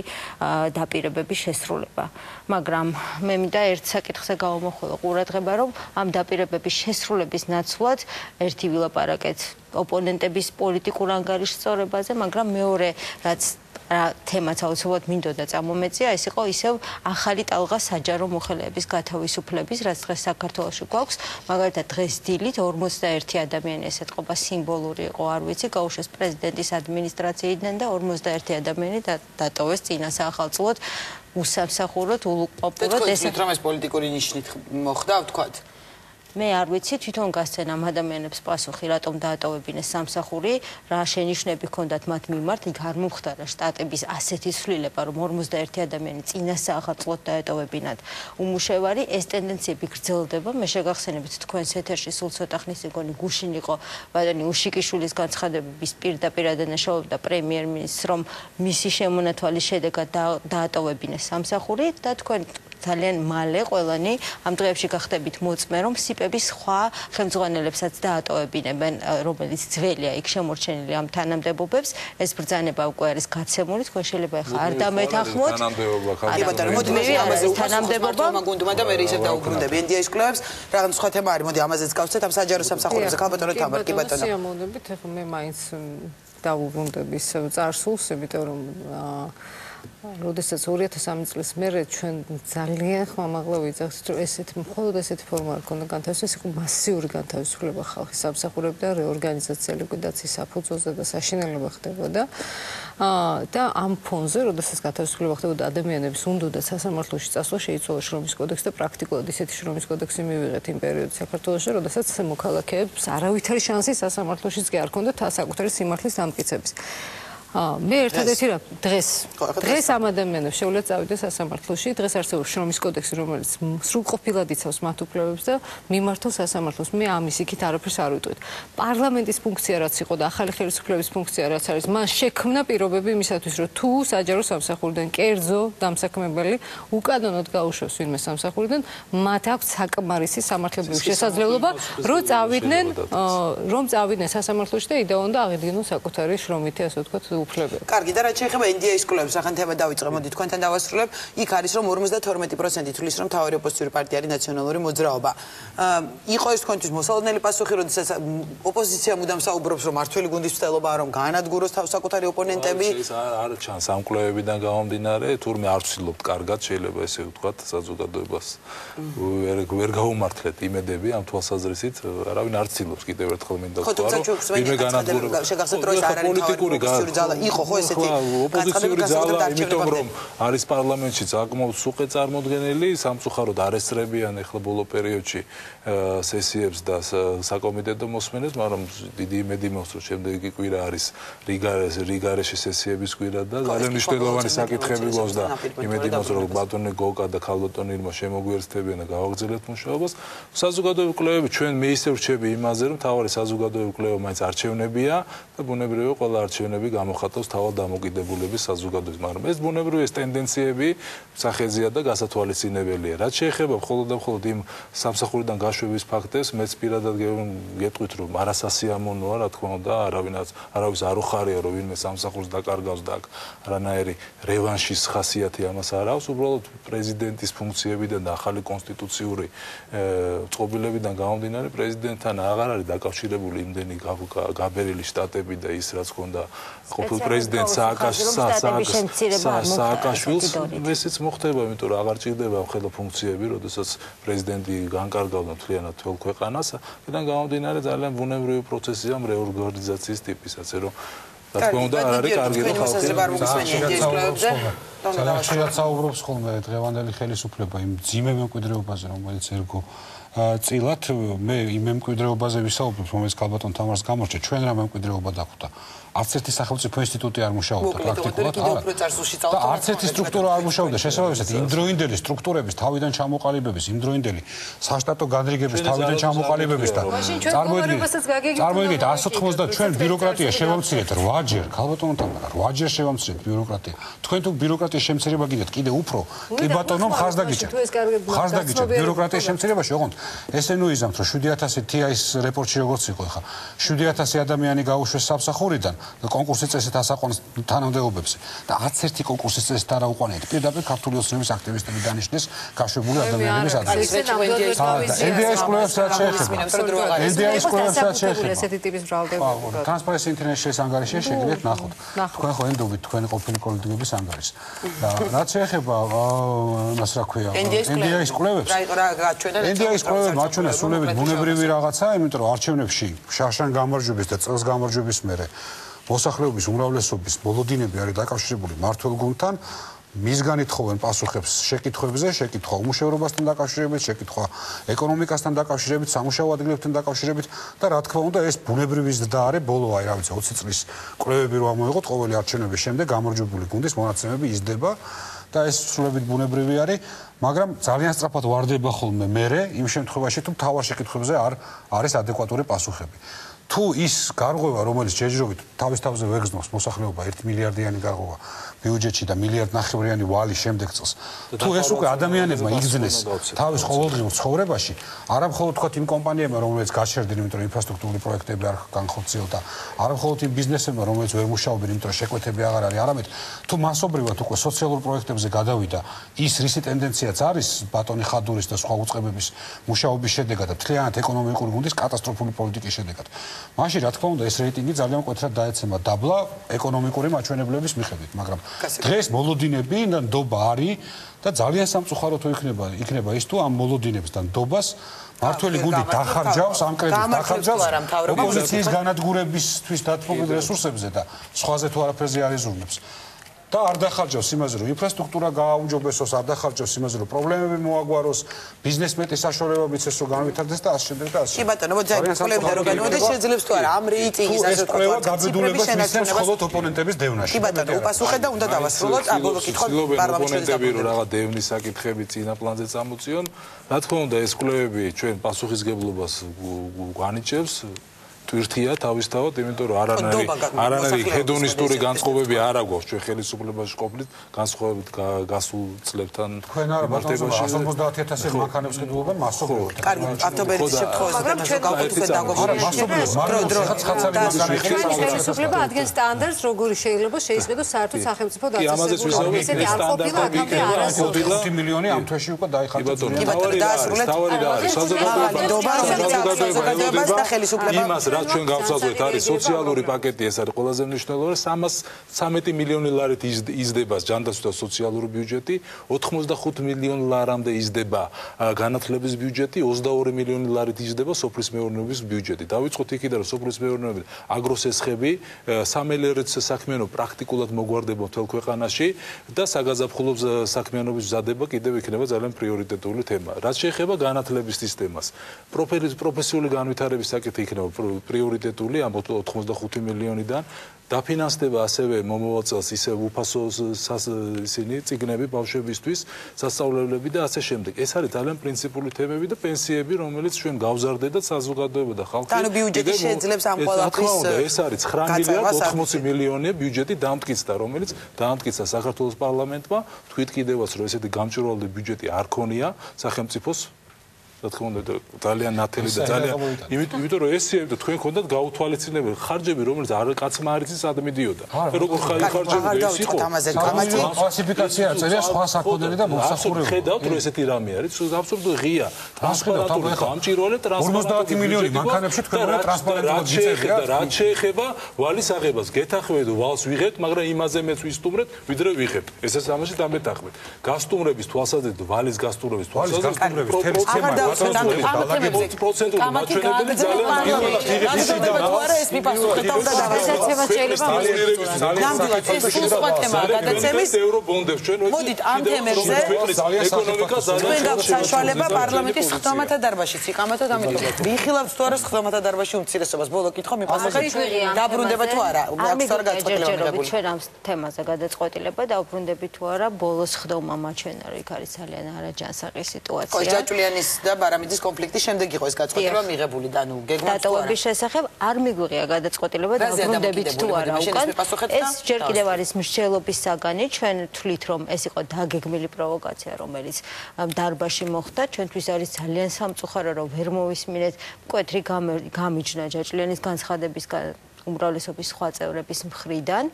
დაპირებების შესრულება მაგრამ მე მინდა ერთ საკითხზე გავამოხველო ყურადღება რომ ამ დაპირებების შესრულების ნაცვლად ერთი ვილაპარაკეთ ოპონენტების პოლიტიკურ ანგარიშსწორებაზე მაგრამ მეორე რაც რა თემაც აუცილებლად მინდოდა წამომეწია ეს იყო ისევ ახალი ტალღა საჯარო მოხელეების გათავისუფლების რაც დღეს საქართველოში გვაქვს მაგალითად დღეს დილით ორმოცდაერთი ადამიანი ესეთყობა სიმბოლური იყო არ ვიცი გაუშვეს პრეზიდენტის ადმინისტრაციიდან და ორმოცდაერთი ადამიანი დატოვეს წინა საახალწლოდ უსამსახუროდ ულუყპოპურად ეს რომ ეს პოლიტიკური ნიშნით მოხდა ვთქვათ მე არ ვიცი თვითონ გასცენ ამ ადამიანებს პასუხი რატომ დაატოვებინეს სამსახური რა შენიშვნები ჰქონდათ მათ მიმართ იქ არ მომხდარა შტატების ასეთი ცვლილება რომ ორმოცდაერთი ადამიანი წინა საახალწლოდ დაეტოვებინათ უმუშევარი ეს ტენდენციები გრძელდება მე შეგახსენებთ თქვენს ეთერში სულ ცოტა ხნის წინ გუშინ იყო ბატონი უშიკიშვილის განცხადებების პირდაპირ ადანაშაულებდა პრემიერ-მინისტრს რომ მისი შემონათვალის შედეგად დაატოვებინეს სამსახური და თქვენ ძალიან მალე ყველანი ამ დღეებში გახდებით მოწმე რომ სიპების სხვა ხელმძღვანელებსაც დაატოვებინებენ რომელიც ძველია იქ შემორჩენილი ამ თანამდებობებს ეს ბრძანება უკვე არის გაცემული თქვენ შეიძლება ახლა არ დამეთანხმოთ თანამდებობა კი ბატონო მოდი მე ამაზე თანამდებობა მაგუნდუმა და მე ისევ დაუბრუნდები ენ დი ეის კვლევებს რაღაც სხვა თემა არის მოდი ამაზეც გავცეთ ამ საჯარო სამსახურებზე ხალ ბატონო თამარ კი ბატონო სიამოვნებით ახლა მე მაინც დაუბრუნდები ისევ წარსულს იმიტომ რომ როდესაც ორი ათას სამი წლის მერე ჩვენ ძალიან ხმამაღლა ვიძახით რომ ესეთი მხოლოდ ესეთი ფორმა არ ქონდა განთავისუფლების იყო მასიური განთავისუფლება ხალხის სამსახურებიდან და რეორგანიზაცია ლიკვიდაციის საფუძველზე და საშინელება ხდებოდა და ამ ფონზე როდესაც განთავისუფლება ხდებოდა ადამიანების უნდოდა სასამართლოში წასვლა შეიცვალა შრომის კოდექსი და პრაქტიკულად ისეთი შრომის კოდექსი მივიღეთ იმ პერიოდში საქართველოში როდესაც მოქალაქეებს არავითარი შანსი სასამართლოშიც კი არ ჰქონდათ საკუთარი სიმართლის დამტკიცების მე ერთადერთი რა დღეს დღეს ამ ადამიანებს შეუძლია წავიდეს სასამართლოში დღეს არსებობს შრომის კოდექსი რომელიც სრულყოფილად იცავს მათ უფლებებს და მიმართავს სასამართლოს მე ამის იქით არაფერს არ ვიტყვით პარლამენტის ფუნქცია რაც იყო და ახალი ხელისუფლების ფუნქცია რაც არის მან შექმნა პირობები იმისათვის რომ თუ საჯარო სამსახურიდან კერძო დამსაქმებელი უკანონოდ გაუშვეს ვინმე სამსახურიდან მათ აქვს საკმარისი სამართლებრივი შესაძლებლობა რომ წავიდნენ რომ წავიდნენ სასამართლოში და იდეონ და აღიდგინონ საკუთარი შრომითი ასე ვთქვათ უფლებები. კარგი, და რაც შეეხება ინდიის კვლევებს, ახლა თემა დავიწყე, მოდი თქვენთან დავასრულებ. იქ არის რომ ორმოცდათორმეტი პროცენტი თვლის რომ თავი ოპოზიციური პარტია არის ნაციონალური მოძრაობა. იყო ეს თქვენთვის მოსალოდნელი პასუხი, როდესაც ოპოზიცია მუდამ საუბრობს რომ მართველი გუნდის მცდელობაა რომ გაანადგუროს თავის საკუთარი ოპონენტები. ეს არ ჩანს ამ კვლევებიდან გამომდინარე, თურმე არ ვცდილობთ კარგად შეიძლება ესე ვთქვათ საზოგადოებას. ვერ გაუმართლეთ იმედები ამ თვალსაზრისით, არავინ არ ცდილობს კიდევ ერთხელ მინდა ვთქვა რომ იმე განადგურება შეგახსენებთ რომ ეს არ არის ოპოზიციური ძალა, იყო ხო ესეთი ოპოზიციური ძალა, იმიტომ რომ არის პარლამენტში საკმაოდ სუყე წარმოდგენილი, სამწუხაროდ არესტრებიან ახლა ბოლო პერიოდში სესიებს და საკომიტეტო მოსმენებს, მაგრამ დიდი იმედი მაქვს რომ შემდეგი კვირა არის რიგარეში სესიების კვირა და ძალიან მნიშვნელოვანი საკითხები გვაქვს და იმედი მაქვს რომ ბატონი გოკა და ქალბატონი ირმა შემოგვიერთდებიან და გავაგრძელებთ მუშაობას. საზოგადოებრივი კვლევები ჩვენ მე ისე ვრჩები იმაზე რომ თავარი საზოგადოებრივი კვლევა მაინც არჩევნებია და ბუნებრივია ყველა არჩევნები გამოხატავს თავად დამოკიდებულების საზოგადოებას, მაგრამ ეს ბუნებრივი ეს ტენდენციები სახეზია და გასათვალისწინებელია. რაც შეეხება მხოლოდ და მხოლოდ იმ სამსახურიდან გაშვების ფაქტებს, მეც პირადად გეტყვით რომ არასასიამოვნოა, რა თქმა უნდა, არავინაც არავის არ უხარია რომ ვინმე სამსახურს დაკარგავს და არანაირი რევანშის ხასიათი ამას არ აქვს, უბრალოდ პრეზიდენტის ფუნქციებიდან და ახალი კონსტიტუციური წყობილებიდან გამომდინარე პრეზიდენტთან აღარ არის დაკავშირებული იმდენი გაბერილი შტატები და ის რაც ქონდა ყოფილ პრეზიდენტ სააკაშვილს ესეც მოხდება, იმიტომ რომ აღარ ჭირდება ხელო ფუნქციები, როდესაც პრეზიდენტი განკარგავდა მთლიანად თელ ქვეყანას, აქედან გამომდინარე ძალიან ბუნებრივი პროცესია რეორგანიზაციის ტიპისაც, რომ რა თქმა უნდა არ არის კარგი რომ ხალხი ძალიან ხშირად საუბრობს ხოლმე დღევანდელი ხელისუფლება იმ ძიმე მემკვიდრეობაზე, რომელიც ერგო წილად მე იმ მემკვიდრეობაზე ვისაუბრებ, რომელიც ქალბატონ თამარს გამორჩა, ჩვენ რა მემკვიდრეობა დახვდა. არც ერთი სახელმწიფო ინსტიტუტი არ მუშაობდა პრაქტიკულად, არა. და არც ერთი სტრუქტურა არ მუშაობდა, შესაბამისად იმდროინდელი სტრუქტურების თავიდან ჩამოყალიბების, იმდროინდელი საშტატო განრიგების თავიდან ჩამოყალიბების და წარმოიდგინეთ არს ოთხმოცდაათ ჩვენ ბიუროკრატია შევამცირეთ რვაჯერ, ქალბატონო თამარ, რვაჯერ შევამცირეთ ბიუროკრატია. თქვენ თუ ბიუროკრატიის შემცირება გინდათ კიდე უფრო, კი ბატონო, ხარს დაგიჭერთ. ხარს დაგიჭერთ ბიუროკრატიის შემცირებაში, ოღონდ ესე ნუიზამთ რომ შვიდი ათასი თი აის რეპორტში როგორც იყო ხა, შვიდი ათასი ადამიანი გაუშვეს სამსახურიდან კონკურსის წესით ასაყვანს თანამდებობებზე და არც ერთი კონკურსის წესით არ აუყვანეთ. პირდაპირ ქართული ოცნების აქტივისტები დანიშნეს გაშვებული ადამიანების ადგილზე. ენდიაის კვლევებს რაც შეეხება. ენდიაის კვლევებს რაც შეეხება. ესეთი ტიპის მრავლდება. Transparency International-ის ანგარიშში შეგიძლიათ ნახოთ. თქვენ ხო ენდობით თქვენი ყოფილი კოლექტივების ანგარიშს. და რაც შეეხება მას რა ქვია, ენდიაის კვლევებს. ენდიაის კვლევებს მაჩვენეს სულებით ბუნებრივი რაღაცა, იმიტომ რომ არჩევნებში შაშან გამარჯვების და წელს გამარჯვების მერე მოსახლეობის უმრავლესობის მოლოდინები არის დაკავშირებული მმართველ გუნდთან, მისგან ითხოვენ პასუხებს შეკითხვებზე, შეკითხვა უმუშევრობასთან დაკავშირებით, შეკითხვა ეკონომიკასთან დაკავშირებით, სამუშაო ადგილებთან დაკავშირებით და რა თქმა უნდა ეს ბუნებრივი ზრდა არის ბოლო აი რა ვიცი ოცი წლის კვლევები რომ ამოიღოთ ყოველი არჩევნების შემდეგ გამარჯვებული გუნდის მონაცემები იზრდება და ეს სრულებით ბუნებრივი არის, მაგრამ ძალიან სწრაფად ვარდება ხოლმე მერე იმ შემთხვევაში თუ მთავარ შეკითხვებზე არ არის ადეკვატური პასუხები. თუ ის გარღვევა, რომელიც ჯერჯერობით თავის თავზე ვეგზნობს მოსახლეობა ერთი მილიარდიანი გარღვევა ბიუჯეტში და მილიარდ ნახევრიანი ვალი შემდეგ წელს. თუ ეს უკვე ადამიანებმა იგრძნეს თავის ყოველდღიურ ცხოვრებაში, არა მხოლოდ თქვა იმ კომპანიებმა, რომლებიც გაჩერდნენ, იმიტომ რომ ინფრასტრუქტურული პროექტები არ განხორციელდა, არა მხოლოდ იმ ბიზნესებმა, რომლებიც ვერ მუშაობენ, იმიტომ რომ შეკვეთები აღარ არის, არამედ თუ მასობრივად უკვე სოციალურ პროექტებზე გადავიდა ის რისი ტენდენციაც არის ბატონი ხადურის და სხვა უწყებების მუშაობის შედეგად და მთლიანად ეკონომიკური გუნდის კატასტროფული პოლიტიკის შედეგად. მაშინ რა თქმა უნდა ეს რეიტინგი ძალიან მკვეთრად დაეცემა დაბლა ეკონომიკური მაჩვენებლების მიხედვით, მაგრამ დღეს მოლოდინები და ნდობა არის და ძალიან სამწუხარო თუ იქნება იქნება ის თუ ამ მოლოდინებს და ნდობას მართველი გუნდი დახარჯავს ამ კრედიტს დახარჯავს ოპოზიციის განადგურებისთვის დათმობილ რესურსებზე და სხვაზე თუ არაფერზე არ იზრუნებს. და არ დახარჯავს იმაზე, რომ ინფრასტრუქტურა გააუმჯობესოს, არ დახარჯავს იმაზე, რომ პრობლემები მოაგვაროს, ბიზნესმეტის საშუალება მიცეს, რომ განვითარდეს და ასე შემდეგ და ასე. კი ბატონო, მოდი კვლევები რო განვიდეს შეძლებს თუ არა ამ რეიტინგის ასე ვთქვათ, კვლევა გაბედულებას მისცემს მხოლოდ ოპონენტების დევნაში. კი ბატონო, უპასუხეთ და უნდა დავასრულოთ აბოლო კითხვა პარლამენტში რომ რაღაც დევნის საკითხები წინა პლანზე წამოწიონ. რა თქმა უნდა, ეს კვლევები ჩვენ პასუხისგებლობას განიჭებს. ტვირთია თავისთავად, იმიტომ რომ არანაირი არანაირი ჰედონისტური განწყობები არ აქვს ჩვენ ხელისუფლებაში ყოფნით, განსხვავებით გასულ წლებთან მარტივაში ათს ოცდაათ ათასი მანქანებს ყიდულობენ მასობრივად. კარგი, ავტობელის შემთხვევაში და ჩვენ გავაკეთეთ დაგობრუნებული. ხელისუფლება ადგენს სტანდარტს, როგორი შეიძლება შეისყიდოს საერთოდ სახელმწიფო დაწესებულება. ესეთი არ ყოფილა აქამდე არასოდეს. ხუთი მილიონი ამ თვეში უკვე დაიხარჯა. თავი და არის საზოგადოებას და ხელისუფლება იმას რაც ჩვენ გავსაზღვით არის სოციალური პაკეტი ეს არის ყველაზე მნიშვნელოვანი სამას ცამეტი მილიონი ლარით იზრდება ჯანდაცვის სოციალური ბიუჯეტი ოთხმოცდახუთ მილიონ ლარამდე იზრდება განათლების ბიუჯეტი ოცდაორი მილიონი ლარით იზრდება სოფლის მეურნეობის ბიუჯეტი დავიწყოთ იქიდან რომ სოფლის მეურნეობის აგროსესხები სამელერეც საქმიანო პრაქტიკულად მოგვარდება მთელ ქვეყანაში და საგაზაფხულო საქმიანობის მზადება კიდევ იქნება ძალიან პრიორიტეტული თემა რაც შეეხება განათლების სისტემას პროფესიული განვითარების საკითხი იქნება პრიორიტეტული ამ ოთხმოცდახუთი მილიონიდან დაფინანსდება ასევე მომავალ წელს ისე უფასო ისინი წიგნები ბავშვებისთვის სასწავლებლები და ასე შემდეგ ეს არის ძალიან პრინციპული თემები და პენსიები რომელიც ჩვენ გავზარდეთ საზოგადოება და ხალხი ანუ ბიუჯეტი შეძლებს ამ ყველაფრის ეს არის ცხრა მილიარდი ოთხმოცი მილიონი ბიუჯეტი დამტკიცდა რომელიც დამტკიცა საქართველოს პარლამენტმა თქვით კიდევაც რომ ესეთი გამჭვირვალე ბიუჯეტი არ ქონია სახელმწიფოს რა თქმა უნდა ძალიან ნათელი და ძალიან იმიტომ რომ ესეები და თქვენ გქონდათ გაუთვალისწინებელი ხარჯები რომელიც არ კაცმა არ იცის სად მიდიოდა როგორ ხარჯები ეს იყო კლასიფიკაცია წერია სხვა საქონელი და მოსახურება ხედავთ რომ ესეთი რამე არის აბსოლუტურად ღია ტრანსპარენტული გამჭვირვალე ორმოცდაათი მილიონი მანქანებში თქვენ უნდა ტრანსპარენტულად გიწერია რაც შეეხება ვალის აღებას გეთანხმებით ვალს ვიღებთ მაგრამ იმაზე მეც ვისტუმრეთ ვიდრე ვიღებთ ესეც ამაში დამეთანხმებით გასტუმრების თვალსაზრისით ვალის გასტუმრების თვალსაზრისით პროცენტული პროცენტული მაჩვენებელი ძალიან არა ეს მიფასუხეთ და გადაცემა შეიძლება ნამდვილად ეს სხვა თემა გადაცემის ევრობონდებს ჩვენ მოდით ამ თემებზე ეკონომიკა ძალიან გაქვს საშუალება პარლამენტის ხდომათა დარბაზშიც იყამათოთ ამიტომ ვიხილავთ თუ არა ხდომათა დარბაზში უმცირესობას ბოლო კითხვა მიფასუხეთ დაბრუნდება თუ არა აქვს თუ არა გაწყვეტილება ჩვენ ამ თემაზე გადაწყვეტილება დაუბრუნდები თუ არა ბოლოს ხდომა მაჩვენა რომ იქ არის ძალიან არაჯანსაღი სიტუაცია კოჯაჭულიანის და ბარამიძის კონფლიქტის შემდეგ იყო ეს გაწყვეტილება მიღებული და ნუ გეგმაც თუ არა დატოვების შესახებ არ მიგვიღია გადაწყვეტილება დაბრუნდებით თუ არა უკან ეს ჯერ კიდევ არის მსჯელობის საგანი ჩვენ თვლით რომ ეს იყო დაგეგმილი პროვოკაცია რომელიც დარბაზში მოხდა ჩვენთვის არის ძალიან სამწუხარო რომ ვერ მოვისმინეთ მკვეთრი გამიჯნა ჯაჭულიანის განცხადების უმრავლესობის სხვა წევრების მხრიდან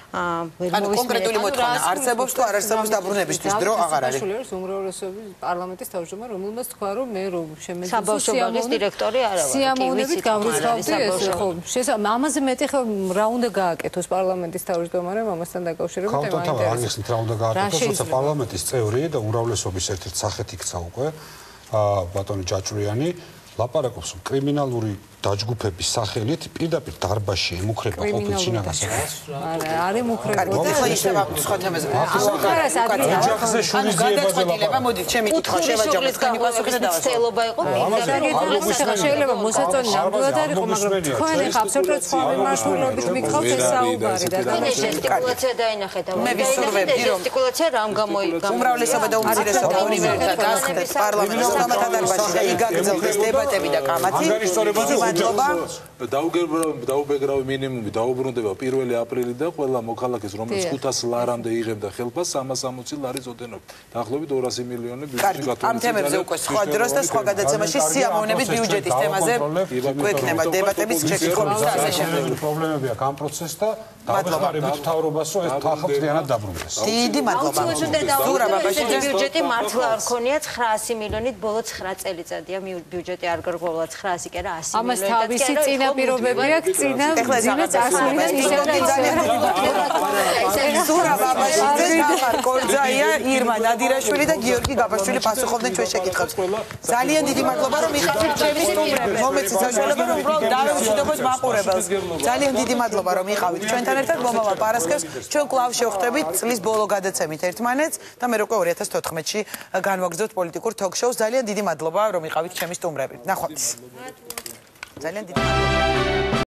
ანუ კონკრეტული მოთხოვნა არსებობს თუ არ არსებობს დაბრუნებისთვის დრო აღარ არის უმრავლესობის პარლამენტის თავმჯდომარე რომელმაც თქვა რომ მე რომ შემეძლო საბავშვო დირექტორი არა ვარ სიამოვნებით გავრიცხავდი ეს ხო შესაძლოა ამაზე მეტი ხო რა უნდა გააკეთოს პარლამენტის თავმჯდომარემ ამასთან დაკავშირებით თემა ინტერესებს რა უნდა გააკეთოს თორსა პარლამენტის წევრი და უმრავლესობის ერთ-ერთ სახეთ იქცა უკვე ბატონი ჯაჭულიანი ლაპარაკობს კრიმინალური დაჯგუფების სახელით პირდაპირ დარბაზში ემუქრება ყოფილ შინაგანას. არა, არ ემუქრება. და ისევ სხვა თემაზე. ოჯახზე შურიზიებაზე ლაპარაკობ. მოდით, ჩემი კითხვა შევაჯამოთ, თქვენი პასუხი და დავასრულოთ. ცელობა იყო პირდაპირ შეიძლება მოსაწონი ნამდვილად არ იყო, მაგრამ თქვენ ახლა აბსოლუტურად სხვა მიმართულებით მიგხავთ ეს საუბარი და გესტიკულაცია დაინახეთ. მე ვისურვებდი რომ გესტიკულაცია რამ გამოიყო. უმრავლესობა და უმცირესობა ორივე ერთად გასხდეთ პარლამენტის ხდომათა დარბაზში და იგაგრძელდეს დებატები და კამათი. დაუბეგრავი მინიმუმი დაუბრუნდება პირველი აპრილიდან ყველა მოქალაქეს რომელიც ხუთას ლარამდე იღებდა ხელფას სამას ოცი ლარის ოდენობით. დაახლოებით ორასი მილიონი ბიუჯეტი გათვალისწინდა. ამ თემებზე უკვე სხვა დროს და სხვა გადაცემაში სიამოვნებით ბიუჯეტის თემაზე გვექნება დებატების შეკითხვების და ასე შემდეგ. პრობლემები აქვს ამ პროცესს და დავეხმარებით მთავრობას რომ ეს თვალხმწლიანად დაბრუნდეს. დიდი მადლობა. ზურა ბაბაშიძე ბიუჯეტი მართლა არ ქონია ცხრაასი მილიონით ბოლო ცხრა წელიწადია ბიუჯეტი არ გარკვეულა ცხრაასი კი არა ასი მილიონი. თავისი წინაპირობები აქვს წინა ძინა წასულიდან ისევ და ისევ ზურა ბაბაშიძე თამარ კორძაია ირმა ნადირაშვილი და გიორგი გაბაშვილი პასუხობდნენ ჩვენ შეკითხვებს ძალიან დიდი მადლობა რომ იყავით ჩემი სტუმრები მომეცი საშუალება რომ უბრალოდ დავეუჩნდებოდ მაყურებელს ძალიან დიდი მადლობა რომ იყავით ჩვენთან ერთად მომავალ პარასკევს ჩვენ კვლავ შევხვდებით წლის ბოლო გადაცემით ერთმანეთს და მე უკვე ორი ათას თოთხმეტში განვაგრძობთ პოლიტიკურ თოქ-შოუს ძალიან დიდი მადლობა რომ იყავით ჩემი სტუმრები ნახვამდის ძალიან დიდი მადლობა